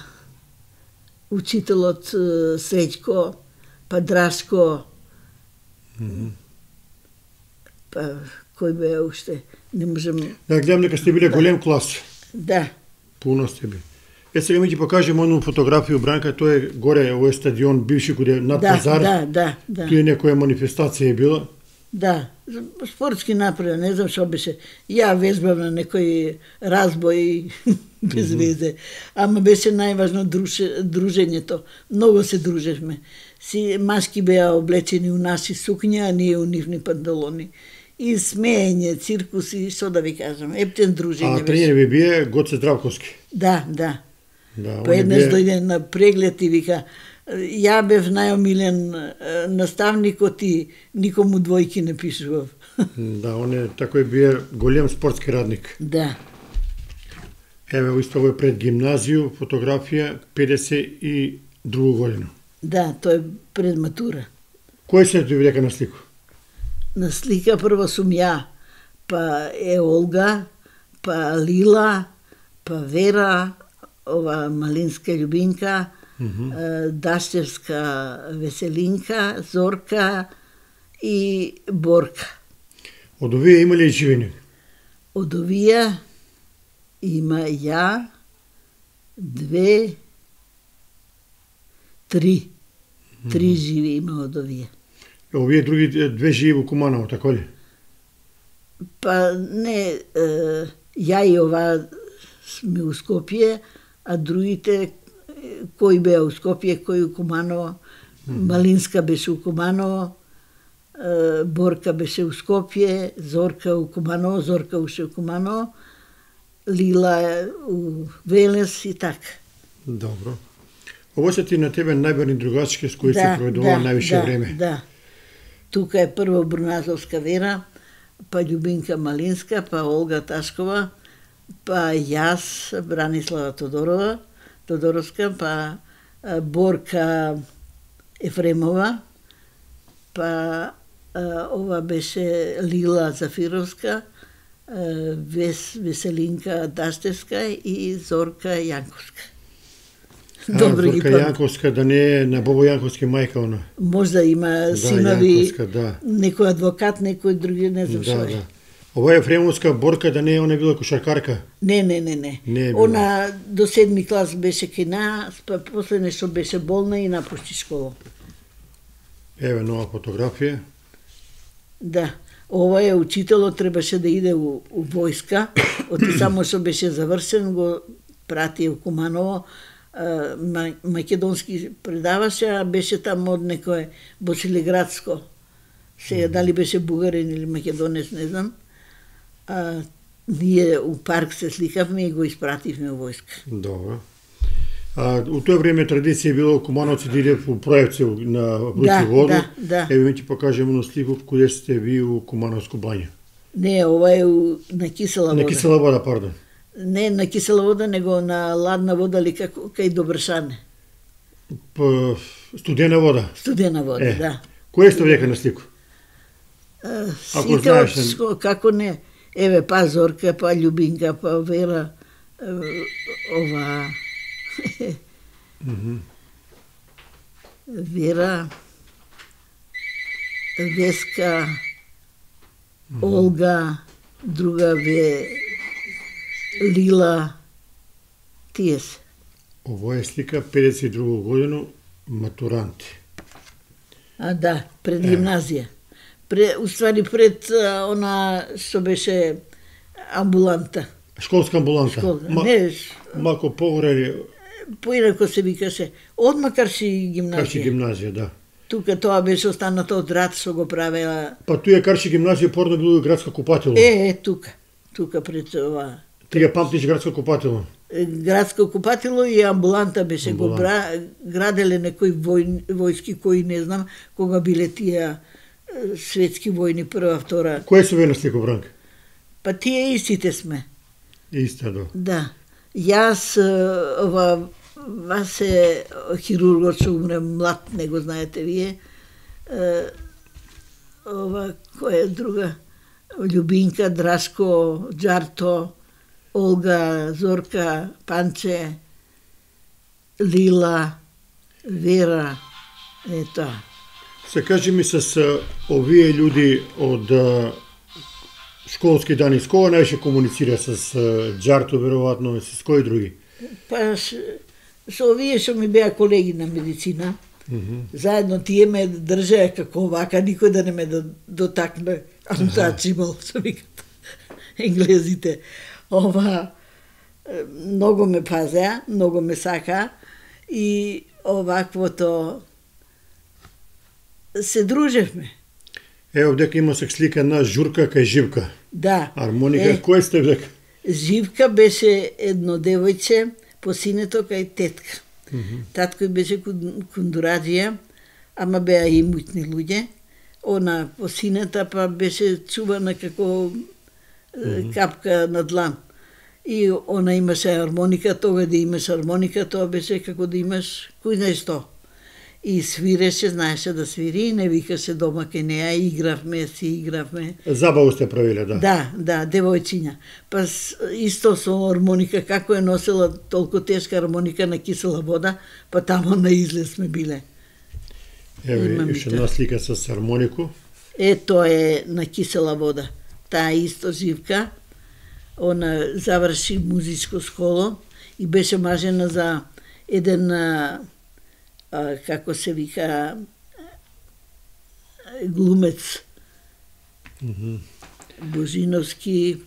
учителот е, Среќко, па Драшко, Mm -hmm. па кој бе уште, не можем, Да, гледам дека сте биле голем клас. да, Пуно сте би. Е, сега ми ќе покажем ону фотографија Бранка, тој е горе, овој стадион, бивши кој е над да, пазар. да, да, да. Тие некоја манифестација е била. Да, спортски напред, не знам што беше. Ја вежбам на некој разбој без Мгм. везе. Ама беше најважно друже, дружењето. Многу се дружевме. Си машки беа облечени у наши сукња, а ние у нивни панталони. И смеење, циркуси, што да ви кажам, ептен А дружење беше. тренер ви бие Гоце Здравковски. Да, да. Да, Па он е еднаш бие- дојде на преглед и вика, ја бев најомилен е, наставникот и никому двојки не пишував. Да, он е такој бие голем спортски радник. Да. Еве, исто овој пред гимназију, фотографија педесет и друга година. Да, тој е пред матура. Кој се ти дека на слику? На слика прво сум ја, па е Олга, па Лила, па Вера, ова Малинска Љубинка, Мгм. е, Дашчевска Веселинка, Зорка и Борка. Од овие има ли живени? Од овие има ја, две, три. Три живи има од овие. Овие други две живи во Куманово, така ли? Па не, е, ја и ова сме у Скопје, а другите е, кои беа у Скопје, кои у Куманово. Малинска беше у Куманово, е, Борка беше у Скопје, Зорка у Куманово, Зорка уште у Куманово, Лила у Велес и така. Добро. Ово се ти на тебе најберни другачки с кои да, се проведува да, највише да, време. Да. Тука е прво Бруназовска Вера, па Љубинка Малинска, па Олга Ташкова, па јас, Бранислава Тодорова, Тодоровска, па Борка Ефремова, па ова беше Лила Зафировска, Вес, Веселинка Даштевска и Зорка Јанковска. А, Зорка Јанковска, да не е на Бобо Јанковски мајка она. Можда има да, синови, да. Некој адвокат, некој други, не знам што да, е. Да. Ова е Ефремовска Борка, да не е она била кошаркарка? Не, не, не, не. не е била. Она до седми клас беше кај нас, па после нешто беше болна и напушти школа. Еве нова фотографија. Да. Ова е учителот, требаше да иде у, у војска, оти само што беше завршен, го прати у Куманово, македонски предаваше, а беше там од некое Босилеградско. Сега дали беше бугарин или македонец, не знам. А, ние у парк се сликавме и го испративме у војска. Добро. А у тоа време традиција било Кумановци да иде у Проевци на Вруци да, воду. Да, да. Еве ми ти покажем на слику каде сте ви у Кумановско бања. Не, ова е у, на кисела вода. На кисела вода, пардон. Не на кисела вода, него на ладна вода или како кај Добршане. По студена вода. Студена вода, е, да. Кој сте века на слику? А, Ако сите знаеш, од, како не. Еве, па Зорка, па Љубинка, па Вера, ова... Mm-hmm. Вера, Веска, mm-hmm. Олга, друга Ве, Лила, тие се. Ово е слика педесет и друга година, матуранти. А да, пред гимназија. Пред, уствари пред а, она што беше амбуланта. Школска амбуланта. Школска. Ма, не, малку погоре. Поинако се викаше. Одма Карши гимназија. Карши гимназија, да. Тука тоа беше останато од рад што го правела. Па туја Карши гимназија порно било и градска купатело. Е, е, тука. Тука пред ова. Ти ја памтиш градско купатело? Градско купатело и амбуланта беше амбулант. Го бра, граделе некои вој, војски кои не знам кога биле тие светски војни прва, втора. Кој се ве на слику, Бранка? Па тие истите сме. Иста, да. Да. Јас, ова, вас е хирургот што умре млад, не го знаете вие. Ова, која е друга? Љубинка, Драшко, Џарто, Олга, Зорка, Панче, Лила, Вера, е тоа. Се кажи ми с овие луѓи од школски дани, с кога најше комуницира? С Џарто, веројатно, с кои други? Па, со овие што ми беа колеги на медицина, Mm-hmm. заедно тие ме држеа како вака, никој да не ме дотакне, untouchable, што викат енглезите. Ова, многу ме пазеа, многу ме сака и оваквото се дружевме. Ево, дека има се слика на Журка кај Живка. Да. Армоника, е, кој сте дека? Живка беше едно девојче по синето кај тетка. Mm-hmm. Таткој беше кундураджија, ама беа и мујтни луѓе. Она по синета па беше чувана како mm-hmm. капка на длан. И она имаше армоника, тога да имаш армоника, тоа беше како да имаш кој знае што. И свиреше, знаеше да свири, и не викаше дома кај неа, игравме, си игравме. Забаву сте правиле, да? Да, да, девојчиња. Па исто со армоника, како е носела толку тешка армоника на кисела вода, па тамо на излез сме биле. Еве, уште една слика со армонику. Е, тоа е на кисела вода. Таа исто Живка, она заврши музичко школо и беше мажена за еден, а, како се вика, глумец. Mm-hmm. Божиновски,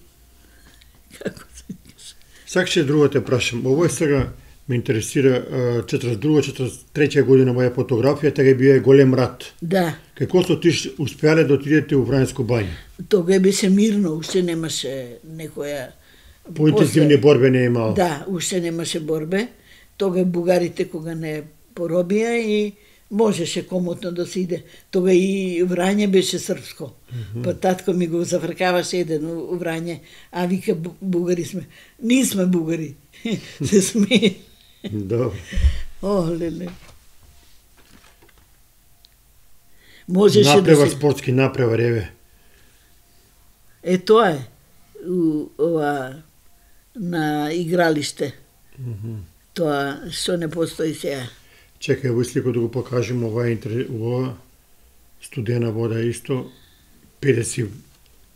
како се викаше. Сакаше друго те прашам. Ово е сега ме интересира четиридесет и друга четиридесет и трета година моја фотографија, тега бие голем рат. Да. Како што ти успеале да отидете у Врањско бања? Тога беше мирно, уште немаше некоја... Поинтензивни борбе не имало. Да, уште немаше борбе. Тога бугарите кога не поробија и можеше комотно да се иде. Тога и Врање беше српско. Mm -hmm. Па татко ми го зафркаваше еден у Врање, а вика бугари сме. Ние сме бугари. Се смее. Да. О, леле. Можеше Напрева да се... спортски напрева реве. Е, тоа е. У, ова, на игралиште. Mm -hmm. Тоа што не постои сега. Чекај, во слико да го покажем, ова е ова студена вода исто, педесет,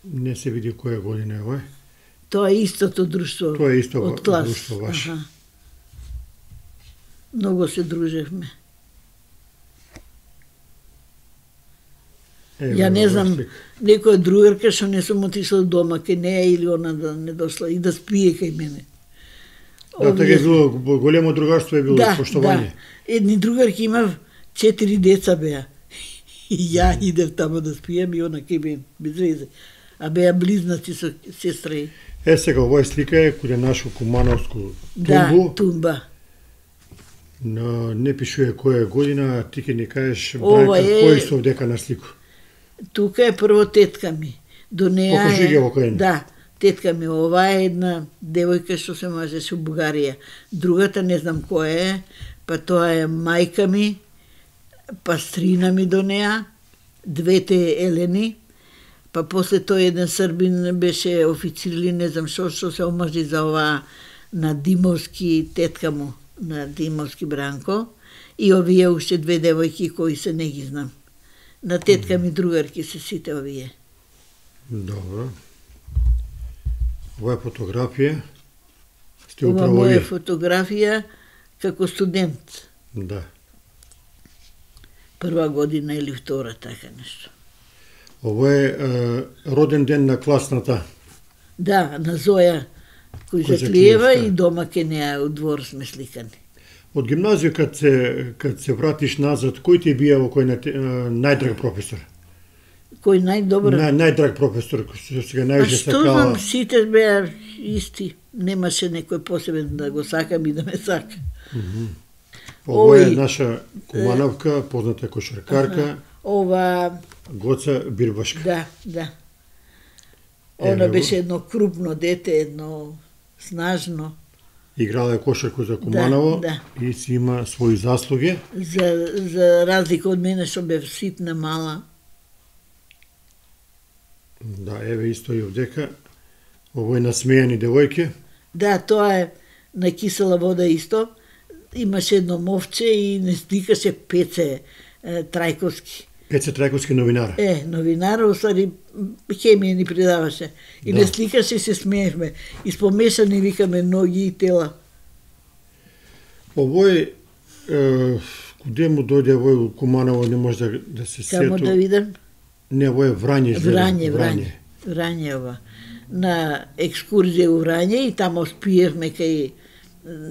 не се види која година е ова. Тоа е истото друштво. Тоа е исто од клас. друштво ваше. Аха. Многу се дружевме. Ево, Ја не знам, слик. некоја другарка што не сум отишла дома кај неја или она да не дошла и да спие кај мене. Да, така е било, големо другарство е било, да, поштовање. Да, едни другарки имав четири деца беа. И ја идев тамо да спијам и она кај мен, без везе. А беа близнаци со сестри. Е, сега, оваа слика е каде нашо Кумановско тумбу. Да, тумба. Но не пишува која година, а ти ќе ни кажеш, Ова Бранка, е- кој се овдека на слику. Тука е прво тетка ми. До неја Покажи ги е... во кој. Да, тетка ми. Ова е една девојка што се мажеше у Бугарија. Другата не знам која е, па тоа е мајка ми, па стрина ми до неја, двете Елени, па после тој еден србин беше официр или не знам што, што се омажи за ова на Димовски, тетка му, на Димовски Бранко, и овие уште две девојки кои се не ги знам. На тетка ми другарки се сите овие. Добро. Ова е фотографија. Сте Ова управо моја вие. фотографија како студент. Да. Прва година или втора, така нешто. Ова е, е роден ден на класната. Да, на Зоја кој Кој Заклиева Заклиевска. и дома ке неа у двор сме сликани. Од гимназија кад се кад се вратиш назад, кој ти бија во кој на, најдраг професор? Кој најдобро? Нај, најдраг професор, што сега Па највише што сакала. знам, сите беа исти. Немаше некој посебен да го сакам и да ме сака. Ова е Овој- наша Кумановка, позната кошаркарка, Ова, Гоца Бирбашка. да, да. Она Ево. беше едно крупно дете, едно снажно. Играла е кошарку за Куманово да. и си има своји заслуги. За, за разлика од мене што бев ситна, мала. Да, еве исто и овдека. Овој насмејани девојки. Да, тоа е на кисела вода исто. Имаше едно мовче и не стикаше Пеце е, Трајковски. Пеце Трајковски новинар. Е, новинар, усади хемија ни предаваше. И Да. не сликаше и се смеевме. И спомешани викаме ноги и тела. Овој е, куде му дојде овој у Куманово, не може да, да се Само сету. да видам. Не, овој е Врање. изгледа. Врање, Врање. Врање ова. На екскурзија у Врање и тамо спиевме кај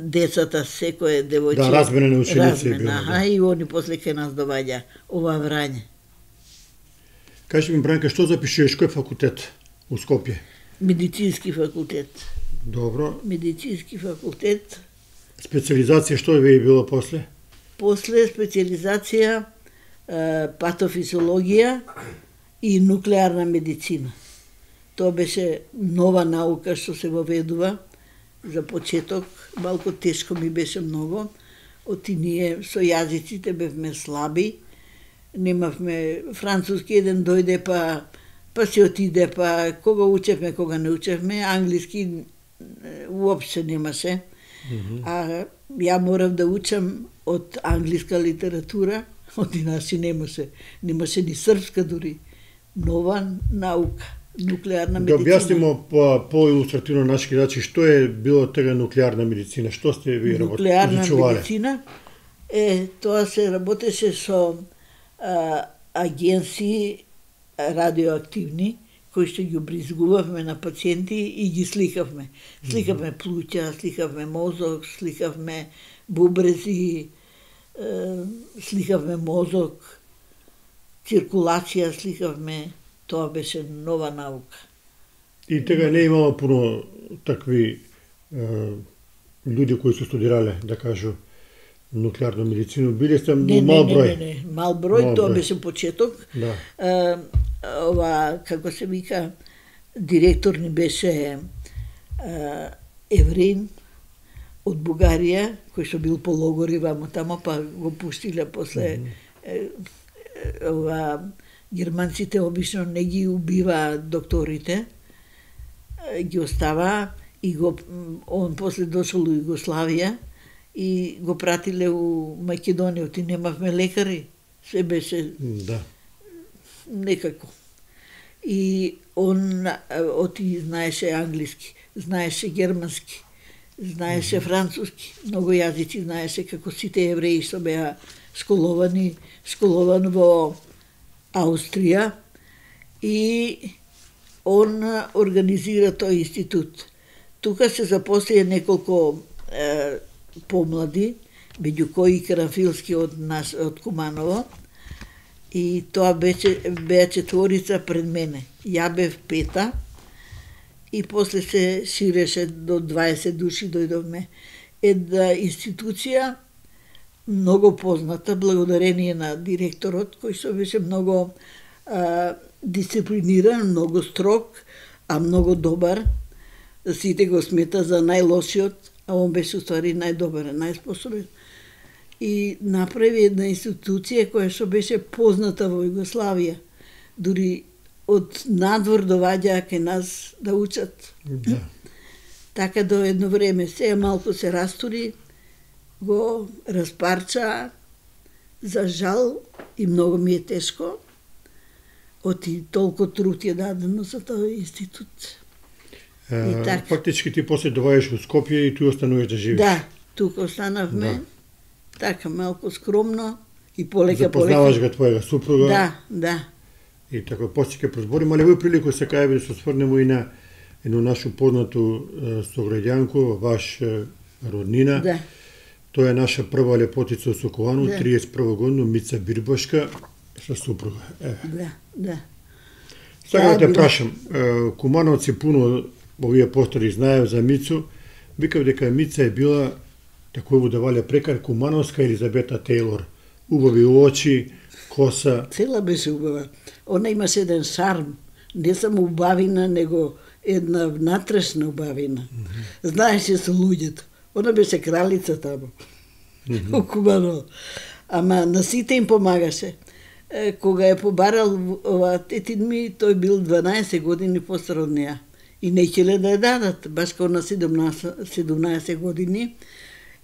децата, секој девојче. Да, размене на ученици е Размена, било, аха, да. и они после кај нас доваѓа ова Врање. Кажи ми, Бранка, што запишуваш, кој факултет у Скопје? Медицински факултет. Добро. Медицински факултет. Специализација што е било после? После специализација е, патофизиологија и нуклеарна медицина. Тоа беше нова наука што се воведува за почеток. Малку тешко ми беше многу. Оти ние со јазиците бевме слаби. Немавме француски, еден дојде па па се отиде, па кога учевме, кога не учевме, англиски е, уопште немаше. А ја морав да учам од англиска литература, од иначе немаше, немаше ни српска дури. Нова наука, нуклеарна Да медицина. објаснимо по, по-илустративно наши гледачи што е било тега нуклеарна медицина, што сте ви Нуклеарна изучувале? медицина е, тоа се работеше со а, агенции радиоактивни, кои што ги обризгувавме на пациенти и ги сликавме. Сликавме плуќа, сликавме мозок, сликавме бубрези, е, сликавме мозок, циркулација сликавме. Тоа беше нова наука. И тега не имало пуно такви е, луѓе кои се студирале, да кажу, нуклеарна медицина, биле сте Не, мал не, број. не, не, не, мал број, Мал тоа број. беше почеток. Да. Е, ова, како се вика, директор ни беше е, евреин од Бугарија, кој што бил по логори вамо тамо, па го пуштиле после mm -hmm. е, е, ова, германците обично не ги убива докторите, е, ги остава и го, он после дошол у Југославија и го пратиле у Македонија, оти немавме лекари, се беше Да. некако. И он оти знаеше англиски, знаеше германски, знаеше mm -hmm. француски, многу јазици знаеше, како сите евреи што беа школовани, школован во Аустрија, и он организира тој институт. Тука се запослија неколку е, помлади, меѓу кои Карамфилски од нас, од Куманово, и тоа беше, беа четворица пред мене. Ја бев пета, и после се ширеше до дваесет души дојдовме. Една институција многу позната, благодарение на директорот, кој што беше многу а, дисциплиниран, многу строг, а многу добар. Сите го смета за најлошиот, а он беше уствари најдобар, најспособен. И направи една институција која што беше позната во Југославија. Дури од надвор доваѓаа кај нас да учат. Да. Така до едно време, сега малку се растури, го распарча, за жал, и многу ми е тешко, оти толку труд е дадено за тој институт. Е, И така. Фактички ти после доваѓаш во Скопје и tu остануваш да живееш. Да, тука останавме, Да. така малку скромно и полека Запознаваш полека. го твојага супруга. Да, да. И така после ќе прозборим, али во прилику се кај да се осврнемо и на едно нашу познато е, сограѓанко, ваш е, роднина. Да. Тоа е наша прва лепотица од Соколану, Да. триесет и прва година, Мица Бирбашка, со супруга. Еве. Да, да. Сега да Таа те била- прашам, е, кумановци пуно овие постари знаев за Мицу, викав дека Мица е била, тако да валја прекар, кумановска Елизабета Тейлор. Убави очи, коса. Цела беше убава. Она имаше еден шарм, не само убавина, него една внатрешна убавина. Mm -hmm. Знаеше со луѓето. Она беше кралица тамо. Mm -hmm. Куманово. Ама на сите им помагаше. Е, кога е побарал ова тетин ми, тој бил дванаесет години постар од неа. И не ќеле да ја дадат, баш као на седумнаесет, седумнаесет години.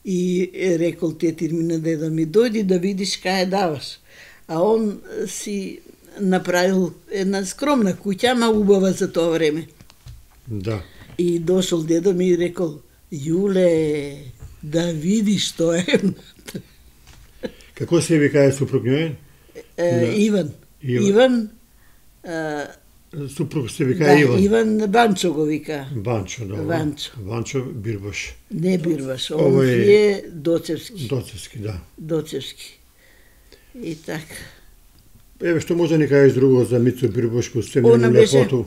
И е рекол тетин ми на деда ми, дојди да видиш кај ја даваш. А он си направил една скромна куќа, ама убава за тоа време. Да. И дошол дедо ми и рекол, Јуле, да видиш што е. Како се вика супруг њој? Е, Да. Иван. Иван. Иван, е, Супруг се вика да, Иван. Иван Банчо го вика. Банчо, да. Банчо. Банчо Бирбаш. Не Бирбаш, он Ова е- е Доцевски. Доцевски, да. Доцевски. И така. Еве што може да ни кажеш друго за Мицо Бирбашко, се Она нели беше- лепоту?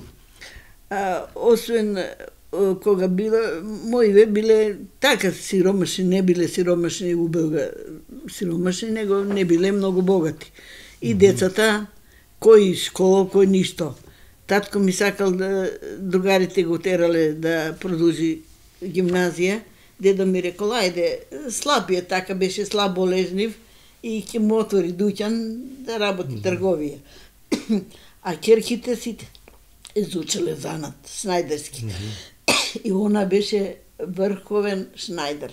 А, освен е, кога била, моиве биле така сиромашни, не биле сиромашни убега сиромашни, него не биле многу богати. И децата, кој школа, кој ништо. Татко ми сакал да другарите го терале да продолжи гимназија. Дедо ми рекол, ајде, слаб е, така беше слаб болезнив и ќе му отвори дуќан да работи трговија. А ќерките сите изучеле занат, шнајдерски. И она беше врховен шнајдер.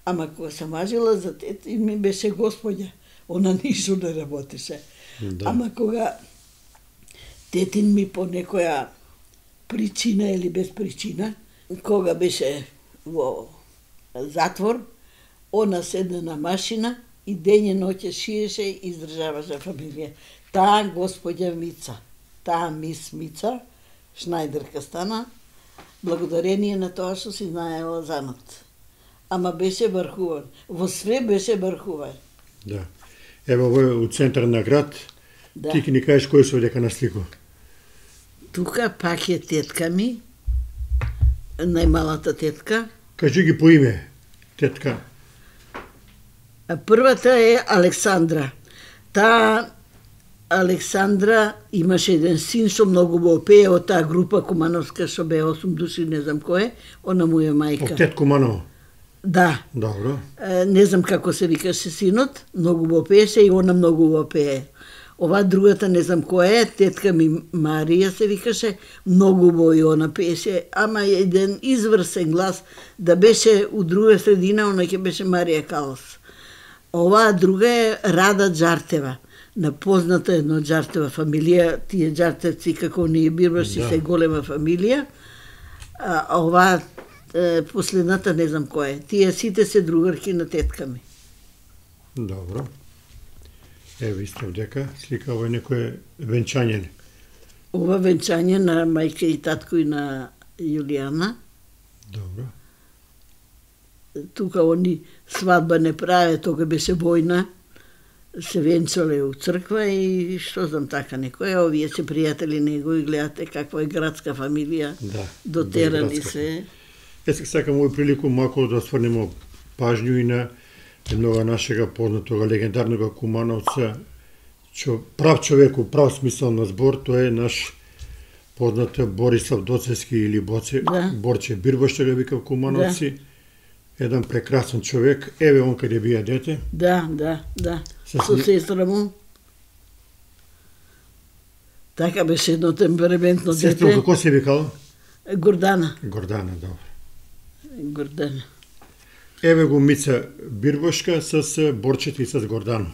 Ама кога се мажила за тет, и ми беше господја. Она ништо не работеше. Да. Ама кога тетин ми по некоја причина или без причина, кога беше во затвор, она седна на машина и ден и ноќе шиеше и издржаваше фамилија. Таа господја Мица, таа мис Мица, шнајдерка стана, благодарение на тоа што си знаела занат. Ама беше врхуван. Во све беше врхуван. Да. Еве овој е у центар на град. Да. Ти ќе ни кажеш кој се дека на слику. Тука пак е тетка ми, најмалата тетка. Кажи ги по име, тетка. А првата е Александра. Таа Александра имаше еден син што многу го пее од таа група кумановска што бе осум души, не знам кој е, она му е мајка. Октет Куманова. Да. Добро. Е, не знам како се викаше синот, многу го пееше и она многу го пее. Ова другата не знам која е, тетка ми Марија се викаше, многу во и она пееше, ама еден изврсен глас, да беше у друга средина, она ќе беше Марија Калос. Оваа друга е Рада Джартева, напозната едно Джартева фамилија, тие Джартевци како ние бирбаши да. Се голема фамилија, а оваа последната не знам која е. Тие сите се другарки на тетка ми. Добро. Е, вистав дека слика ова некој венчање. Ова венчање на мајка и татко и на Јулијана. Добро. Тука они свадба не праве, тога беше војна. Се венчале у црква и што знам така некој. Овие се пријатели него и гледате каква е градска фамилија. Да. Дотерани се. Е, сакам овој прилику малку да сврнемо пажњу и на еднога нашега познатога легендарнога кумановца, чо, прав човек у прав смисол на збор, тој е наш познат Борислав Доцевски или Боце, да. Борче Бирбаш, што го викав кумановци. Да. Еден прекрасен човек, еве он каде бија дете. Да, да, да. Со, Со сестра му. Така беше едно темпераментно дете. Сестра, како се викала? Гордана. Гордана, добро. Гордана. Еве го Мица Бирбошка с Борчето и с Гордано.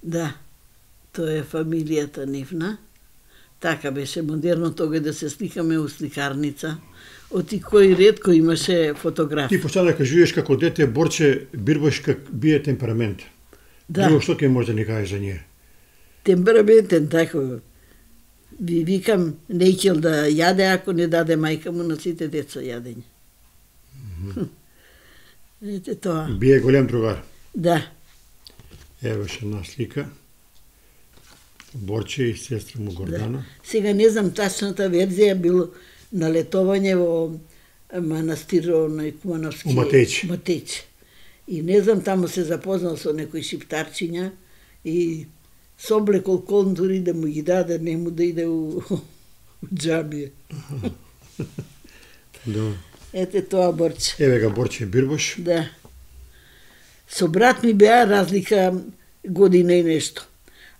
Да, тоа е фамилијата нивна. Така беше модерно тога да се сликаме у сликарница. Оти кој ретко имаше фотограф. Ти почна да кажуваш како дете Борче Бирбошка бие темперамент. Да. Друго што ќе може да ни кажеш за неја? Темпераментен, така. Ви викам, не икел да јаде ако не даде мајка му на сите деца јадење. Mm -hmm. Ете тоа. Бие голем другар. Да. Ево ше една слика. Борче и сестра му Гордана. Да. Сега не знам тачната верзија, било на летовање во манастир на Кумановски. У Матејче. Матејче. И не знам, таму се запознал со некои шиптарчиња и со облекол контури да му ги даде, не му да иде у, у џамија. Да. Ете тоа Борче. Еве га Борче Бирбош. Да. Со брат ми беа разлика година и нешто.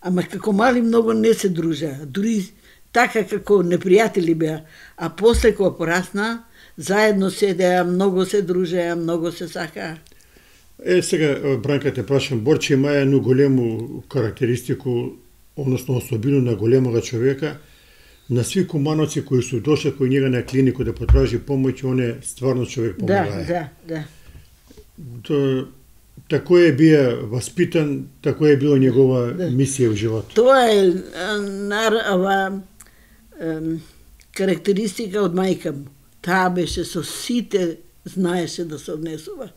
Ама како мали многу не се дружеа. Дури така како непријатели беа. А после кога порасна, заедно седеа, многу се дружеа, многу се сакаа. Е, сега, Бранка, те прашам, Борче има едно големо карактеристику, односно особено на големога човека. На сви кумановци кои су дошли кој njega на клинику да потражи помоќ, он е стварно човек помагае. Да, да, да. То, тако е бија воспитан, тако е била негова да. Мисија во живот. Тоа е нар, ова, е, карактеристика од мајка му. Таа беше со сите знаеше да се однесува.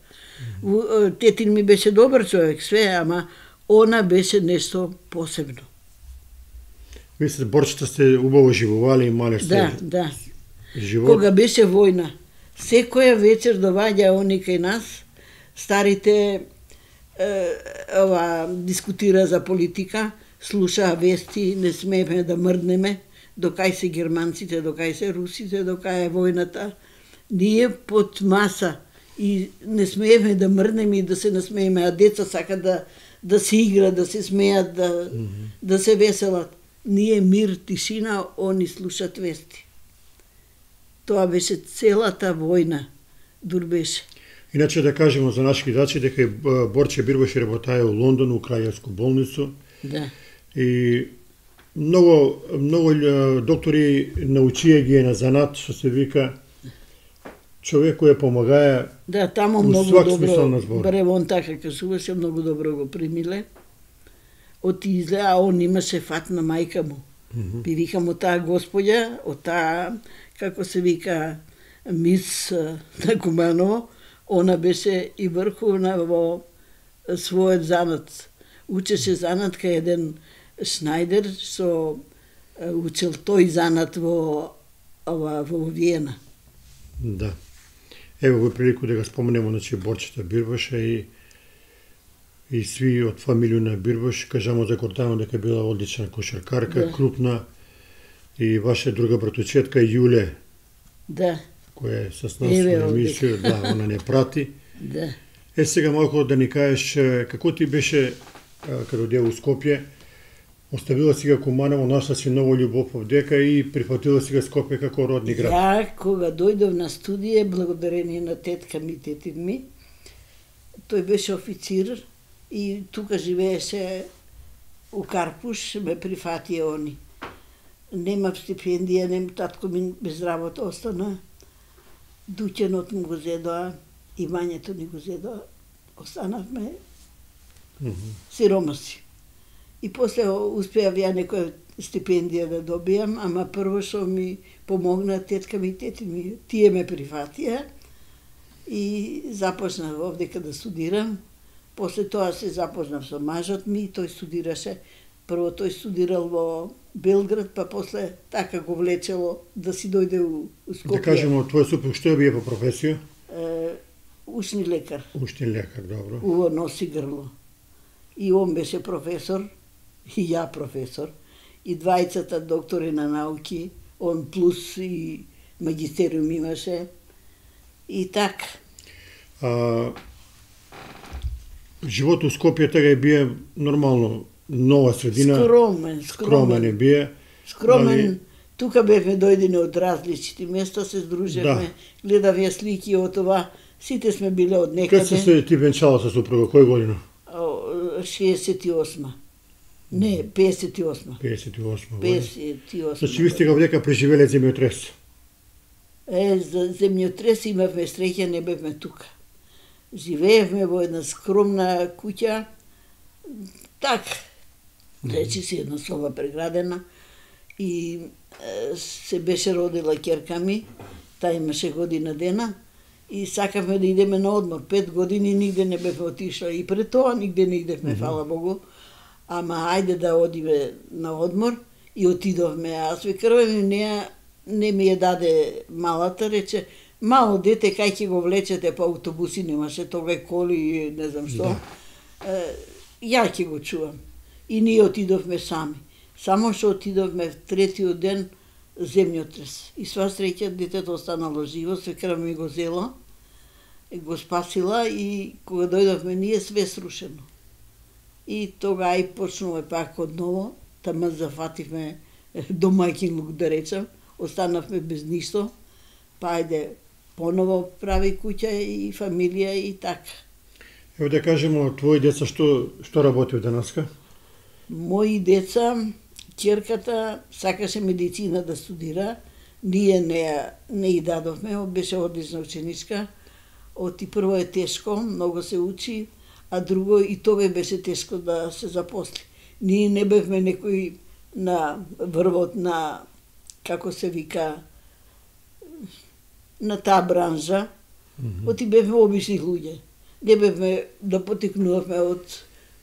Mm -hmm. Тетин ми беше добар човек, све, ама она беше нешто посебно. Мислите, Борчета сте убаво живували, имале сте да, да. живот. Кога беше војна, секоја вечер доваѓа они кај нас, старите е, ова, дискутира за политика, слушаа вести, не смееме да мрднеме, докај се германците, докај се русите, докај е војната. Ние под маса и не смееме да мрднеме и да се насмееме, а деца сакат да, да се игра, да се смеат, да, mm -hmm. да се веселат. Ние мир, тишина, они слушат вести. Тоа беше целата војна, дур беше. Иначе да кажемо за наши гледачи дека Борче Бирбош работае у Лондон, у Краљевску болницу. Да. И многу многу доктори научија ги на занат, што се вика, човек кој помагае. Да, таму многу добро. Барем така кажуваше, многу добро го примиле. Оти излеа, он имаше фат на мајка му. Mm -hmm. Би викам од таа господја, од таа, како се вика, мис на Куманово, она беше и врховна во својот занат. Учеше занат кај еден Шнајдер, со учел тој занат во, ова, во Виена. Да. Ево во прилику да го споменемо, значи, Борчета Бирбоша и и сви од фамилија Бирбаш. Кажамо за Гордана дека била одлична кошаркарка, Да. крупна, и ваша друга братучетка Јуле, Да, која е с нас Еве во овде. емисија, да, она не прати. да. Е, сега малку да ни кажеш е, како ти беше а, кога одеа у Скопје, оставила си га Куманово, нашла си ново љубов овдека и прифатила си га Скопје како родни град. Ја, кога дојдов на студија, благодарение на тетка ми и тетин ми, тој беше официр и тука живееше у Карпуш, ме прифатија они. Немав стипендија, нем татко ми без работа остана. Дуќенот му го зедоа, имањето ни го зедоа. Останавме Мгм. сиромаси. И после успеав ја некоја стипендија да добијам, ама прво што ми помогна тетка ми и тети ми, тие ме прифатија и започнав овдека да студирам. После тоа се запознав со мажот ми, тој студираше. Прво тој студирал во Белград, па после така го влечело да си дојде у, у Скопје. Да кажемо, твој супруг што бие по професија? Е, ушни лекар. Уштен лекар, добро. Уво носи грло. И он беше професор, и ја професор, и двајцата доктори на науки, он плюс и магистериум имаше. И така. А, живот у Скопје тега бие нормално, нова средина, Скромен, скромен скромен. е бие. Скромен. али- Тука бевме дојдени од различити места, се здружевме, гледав ја слики од това. Сите сме биле од Кад се некаде. се ти венчала со супруга, кој година? О, шеесет и осма. Не, песет и осма. песет и осма година. песет и осма. Значи, ви сте га вдека преживеле земјотрес. Е, за земјотрес имавме среќа, не бевме тука. Живеевме во една скромна куќа, так, речи си една соба преградена, и е, се беше родила ќерка ми, таа имаше година дена, и сакавме да идеме на одмор. Пет години нигде не бевме отишла, и пред тоа нигде не идевме, фала Богу. Ама ајде да одиме на одмор, и отидовме. Аз викарвам, не, не ми ја даде малата, рече, мало дете, кај ќе го влечете по автобуси, немаше тога и коли, не знам што. Е, ја ќе го чувам. И ние отидовме сами. Само што отидовме в третиот ден земјотрес. И сва среќа детето останало живо, свекра ми го зела, и го спасила, и кога дојдовме ние све срушено. И тога и почнуваме пак од ново, тама зафативме домаќинлук, да речам, останавме без ништо, па ајде поново прави куќа и фамилија и така. Ево да кажемо, твои деца што што работи денеска? Мои деца, ќерката сакаше медицина да студира, ние не, ја- не и дадовме, беше одлична ученичка. Оти прво е тешко, многу се учи, а друго и тоа беше тешко да се запосли. Ние не бевме некои на врвот на, како се вика, на таа бранжа, оти бевме обични луѓе. Не бевме да потекнувавме од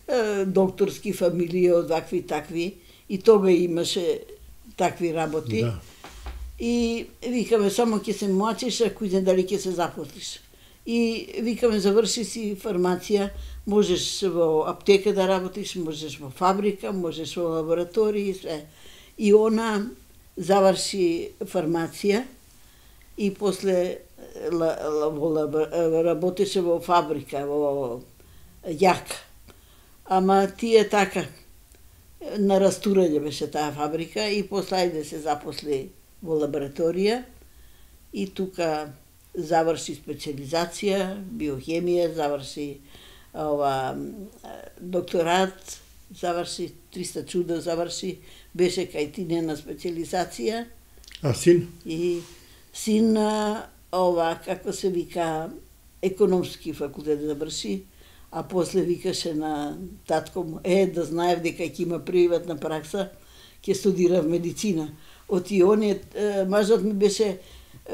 е, докторски фамилии, од вакви и такви, и тога имаше такви работи. Да. И викаме, само ќе се мачиш, ако не дали ќе се запослиш. И викаме, заврши си фармација, можеш во аптека да работиш, можеш во фабрика, можеш во лабораторија и све. И она заврши фармација и после ла, ла, во, лабо- работеше во фабрика, во јак. Ама тие така, на растурање беше таа фабрика и после ајде се запосли во лабораторија и тука заврши специализација, биохемија, заврши ова докторат, заврши триста чуда, заврши, беше кај тинена специализација А син? и син а, ова, како се вика, економски факултет заврши, а после викаше на татко му, е, да знаев дека ќе има приватна пракса, ќе студира медицина. Оти оние, е, мажот ми беше е,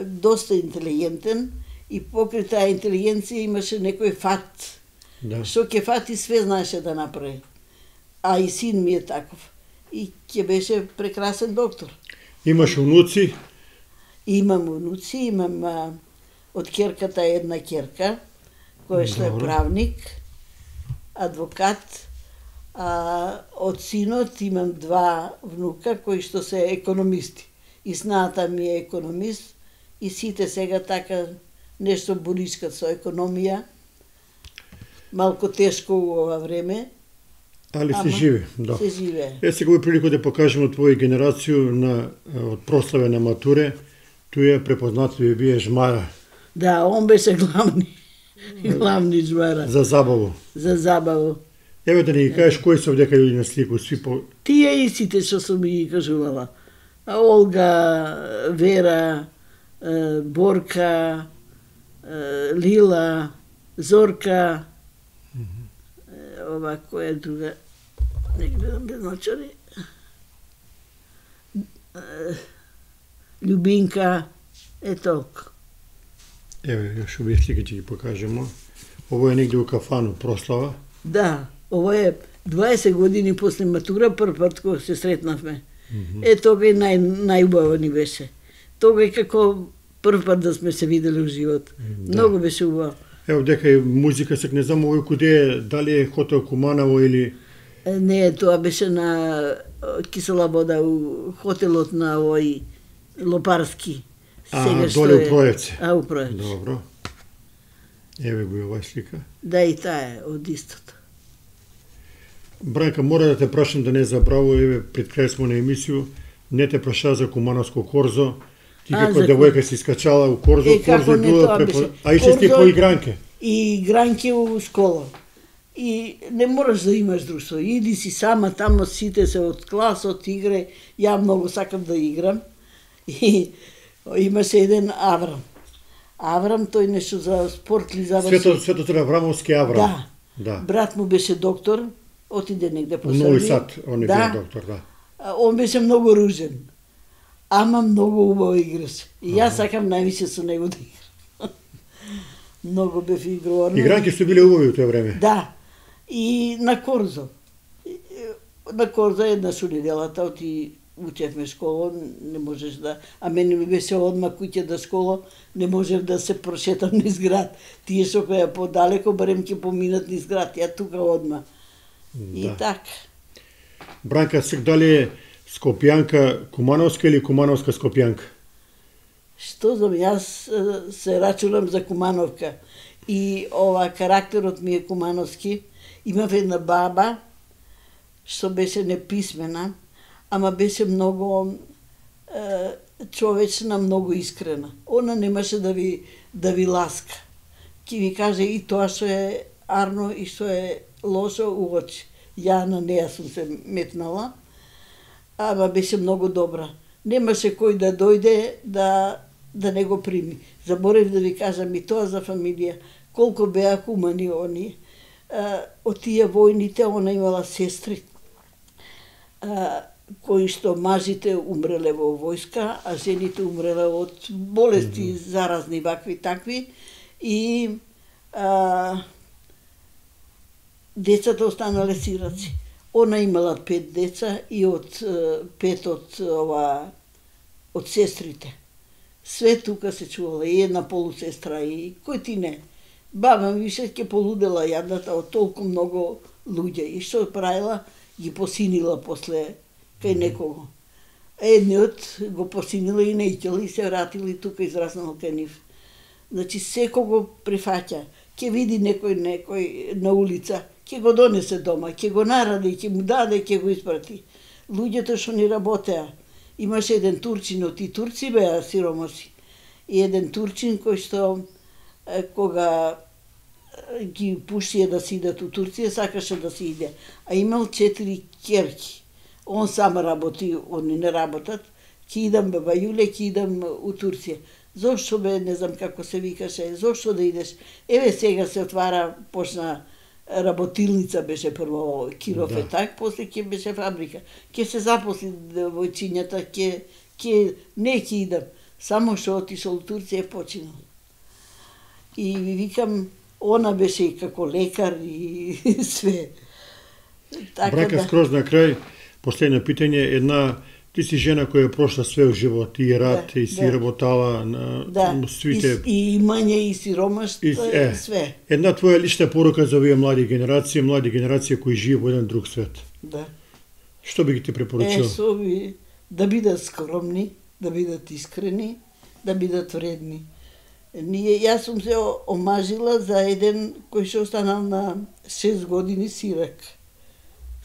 доста интелигентен и покрај таа интелигенција имаше некој фат, Да. што ќе фати све знаеше да направи. А и син ми е таков. И ќе беше прекрасен доктор. Имаш унуци? Имам унуци, имам а, од ќерката една ќерка, која што е Добро. правник, адвокат, а од синот имам два внука кои што се економисти. И снаата ми е економист и сите сега така нешто борискат со економија. Малку тешко у ова време. Али се живе, да. Се живе. Е, сега во прилика да покажеме твоја генерацију на од прославе на матуре, туја препознатливи вие жмара. Да, он беше главни, главни жмара. За забаву. За забаву. Еве да ни ги кажеш кои се овдека луѓе на слику, сви по... Тие истите што сум ги кажувала. Олга, Вера, Борка, Лила, Зорка, ова која е друга, не гледам без ночари, Љубинка, е толку. Еве, још овие слики ќе ги покажемо. Ово е негде у кафану, прослава. Да, ово е дваесет години после матура, прв пат кога се сретнавме. Mm -hmm. Е, тога и нај, најубаво ни беше. Тога и како прв пат да сме се видели у живот. Да. Многу беше убаво. Ево, дека е музика, сек не знам овој куде е, дали е хотел Куманово или... Не, тоа беше на Кисела вода, у хотелот на овој Лопарски. А, Сега доле е... у Проевце. А, у Проевце. Добро. Еве го и оваа слика. Да, и таа е од истото. Бранка, мора да те прашам да не забраво, еве, пред крај смо на емисију, не те праша за Кумановско корзо. Ти како девојка си скачала у корзо, е, корзо било препо... А и се ти по игранке? И игранке у школа. И не мораш да имаш друштво. Иди си сама, тамо сите се од класот, игре. Ја многу сакам да играм. И имаше еден Аврам. Аврам, тој нешто за спорт ли заврши. Свето, Светотор Аврамовски Аврам. Да. Да. Брат му беше доктор, отиде негде по Србија. Нови Сад, он е да. бил доктор, да. Он беше многу ружен. Ама многу убаво играше. И јас сакам највише со него да играм. Многу бев игрорна. Игранки су биле убави у тоа време. Да. И на корзо. На корзо еднаш у неделата оти учевме школа, не можеш да... А мене ми беше одма куќе до школа, не можев да се прошетам низ град. Тие што која подалеко, барем ќе поминат низ град, ја тука одма. Да. И така. Бранка, сек дали е Скопјанка Кумановска или Кумановска Скопјанка? Што знам, јас се рачунам за Кумановка. И ова карактерот ми е кумановски. Имав една баба што беше неписмена, ама беше многу е, човечна, многу искрена. Она немаше да ви да ви ласка. Ки ви каже и тоа што е арно и што е лошо у очи. Ја на неја сум се метнала, ама беше многу добра. Немаше кој да дојде да да не го прими. Заборев да ви кажам и тоа за фамилија. Колку беа хумани они. Од тие војните, она имала сестри, кои што мажите умреле во војска, а жените умреле од болести mm -hmm. заразни, вакви такви. И а, децата останале сираци. Она имала пет деца и од пет од ова од сестрите. Све тука се чувала, и една полусестра, и кој ти не. Баба ми више ќе полудела јадната од толку многу луѓе. И што правила? Ги посинила после кај некого. Едниот го посинила и неќела и се вратила и тука израснала кај нив. Значи, секој го прифаќа. Ќе види некој некој на улица, ќе го донесе дома, ќе го наради, ќе му даде, ќе го испрати. Луѓето што ни работеа. Имаше еден турчин, од и турци беа сиромаси. И еден турчин кој што кога ги пуштија да си идат у Турција, сакаше да си иде. А имал четири ќерки. Он сам работи, они не работат. Ки идам бе Бајуле, ки идам у Турција. Зошто бе, не знам како се викаше, зошто да идеш? Еве сега се отвара, почна работилница беше прво Киров да. Е так, после ќе беше фабрика. Ќе се запосли војчињата, ќе ќе не ќе идам. Само што отишол у Турција е починал. И ви викам, она беше и како лекар и све. Така Брака, да. Скроз на крај, последно питање, една Ти си жена која е прошла све во живот, и рад, да, и си да. работала на да. свите... И, и имање, и сиромаштво, и, е, и све. Една твоја лична порука за овие млади генерации, млади генерации кои живеат во еден друг свет. Да. Што би ги ти препоручил? Е, со би, да бидат скромни, да бидат искрени, да бидат вредни. Ние, јас сум се омажила за еден кој што останал на шест години сирак.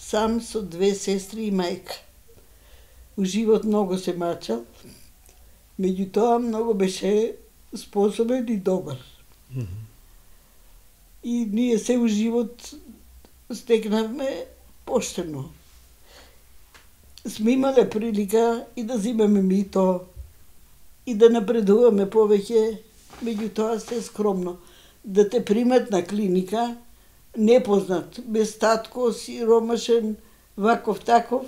Сам со две сестри и мајка. У живот многу се мачал, меѓутоа многу беше способен и добар. Mm -hmm. И ние се у живот стекнавме поштено. Сме имале прилика и да земеме мито, и да напредуваме повеќе, меѓутоа се скромно. Да те примат на клиника, непознат, без татко, сиромашен, ваков таков,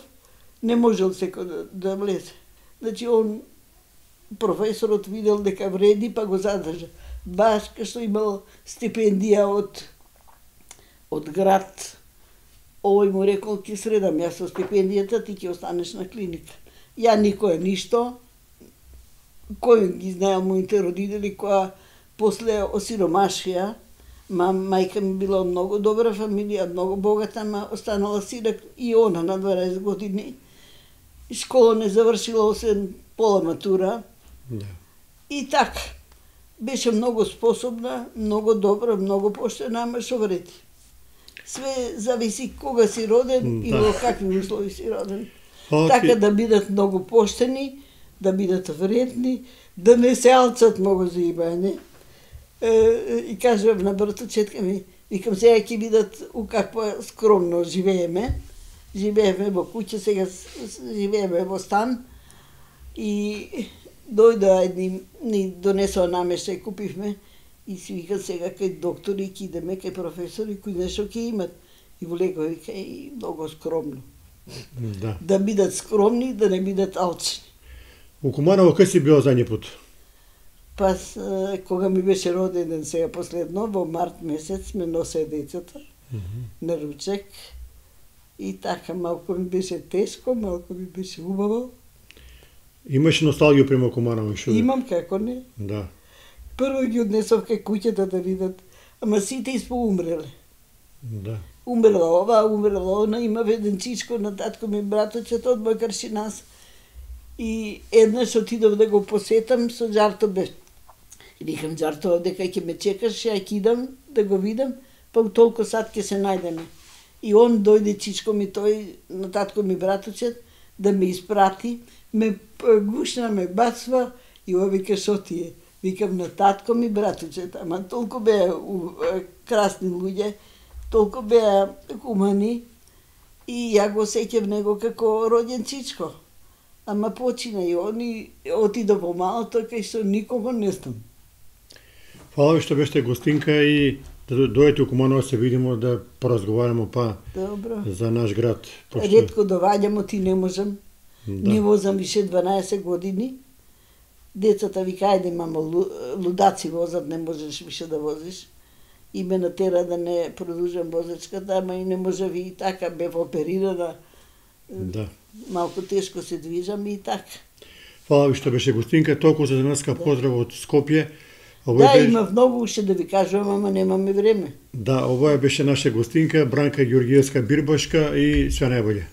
не можел секој да, да влезе. Значи, он, професорот видел дека вреди, па го задржа. Баш кај што имал стипендија од, од град, овој му рекол, ќе средам јас со стипендијата, ти ќе останеш на клиника. Ја никој ништо, кој ги знаел моите родители, која после осиромашија, ма мајка ми била многу добра фамилија, многу богата, ма останала сирак и она на дваесет години. Школа не завршила освен пола матура. Да. И така. Беше многу способна, многу добра, многу поштена, ама што вреди. Све зависи кога си роден, да, и во какви услови си роден. Okay. Така да бидат многу поштени, да бидат вредни, да не се алцат многу за ибање. И кажам на братовчетка ми, викам сега ќе бидат у каква скромно живееме. Живееме во куќа, сега живееме во стан. И дојда едни, ни донесоа намештај, купивме. И си вика сега кај доктори ќе идеме, кај професори, кои нешто ќе имат. И влегува вика и многу скромно. Да. Да бидат скромни, да не бидат алчни. У Куманово кај си била задње пат? Па, кога ми беше роден сега последно, во март месец сме носе децата mm -hmm. на ручек. И така, малку ми беше тешко, малку ми беше убаво. Имаш носталгија према Куманово? Шо? Имам, како не. Да. Прво ги однесов кај куќата да видат, ама сите испоумреле. Да. Умрела ова, умрела она, има еден чичко на татко ми браточет од Бакаршинас. И еднаш отидов да го посетам со Џарто бе. И викам Џарто, дека ќе ме чекаш, ја ќе идам да го видам, па у толку сат ќе се најдеме. И он дојде чичко ми тој, на татко ми браточет, да ме испрати, ме гушна, ме бацва и ова вика шо ти е. Викам на татко ми браточет, ама толку беа красни луѓе, толку беа хумани и ја го сеќав него како роден чичко. Ама почина и они отида во малото, кај што никого не знам. Фала ви што беше гостинка и да дојдете у Куманово се видимо да поразговараме па Добро. За наш град. Пошто... Ретко доваѓам, ти не можам. Да. Не возам више дванаесет години. Децата вика, ајде мамо, лудаци возат, не можеш више да возиш. И ме натера да не продолжам возачката, ама и не можев и така, бев оперирана. Да. Малку тешко се движам и така. Фала ви што беше гостинка, толку за денаска да. Поздрав од Скопје. Овој да, беше... има многу уште да ви кажувам, ама немаме време. Да, ова беше наша гостинка, Бранка Ѓорѓиевска Бирбашка и све најболје.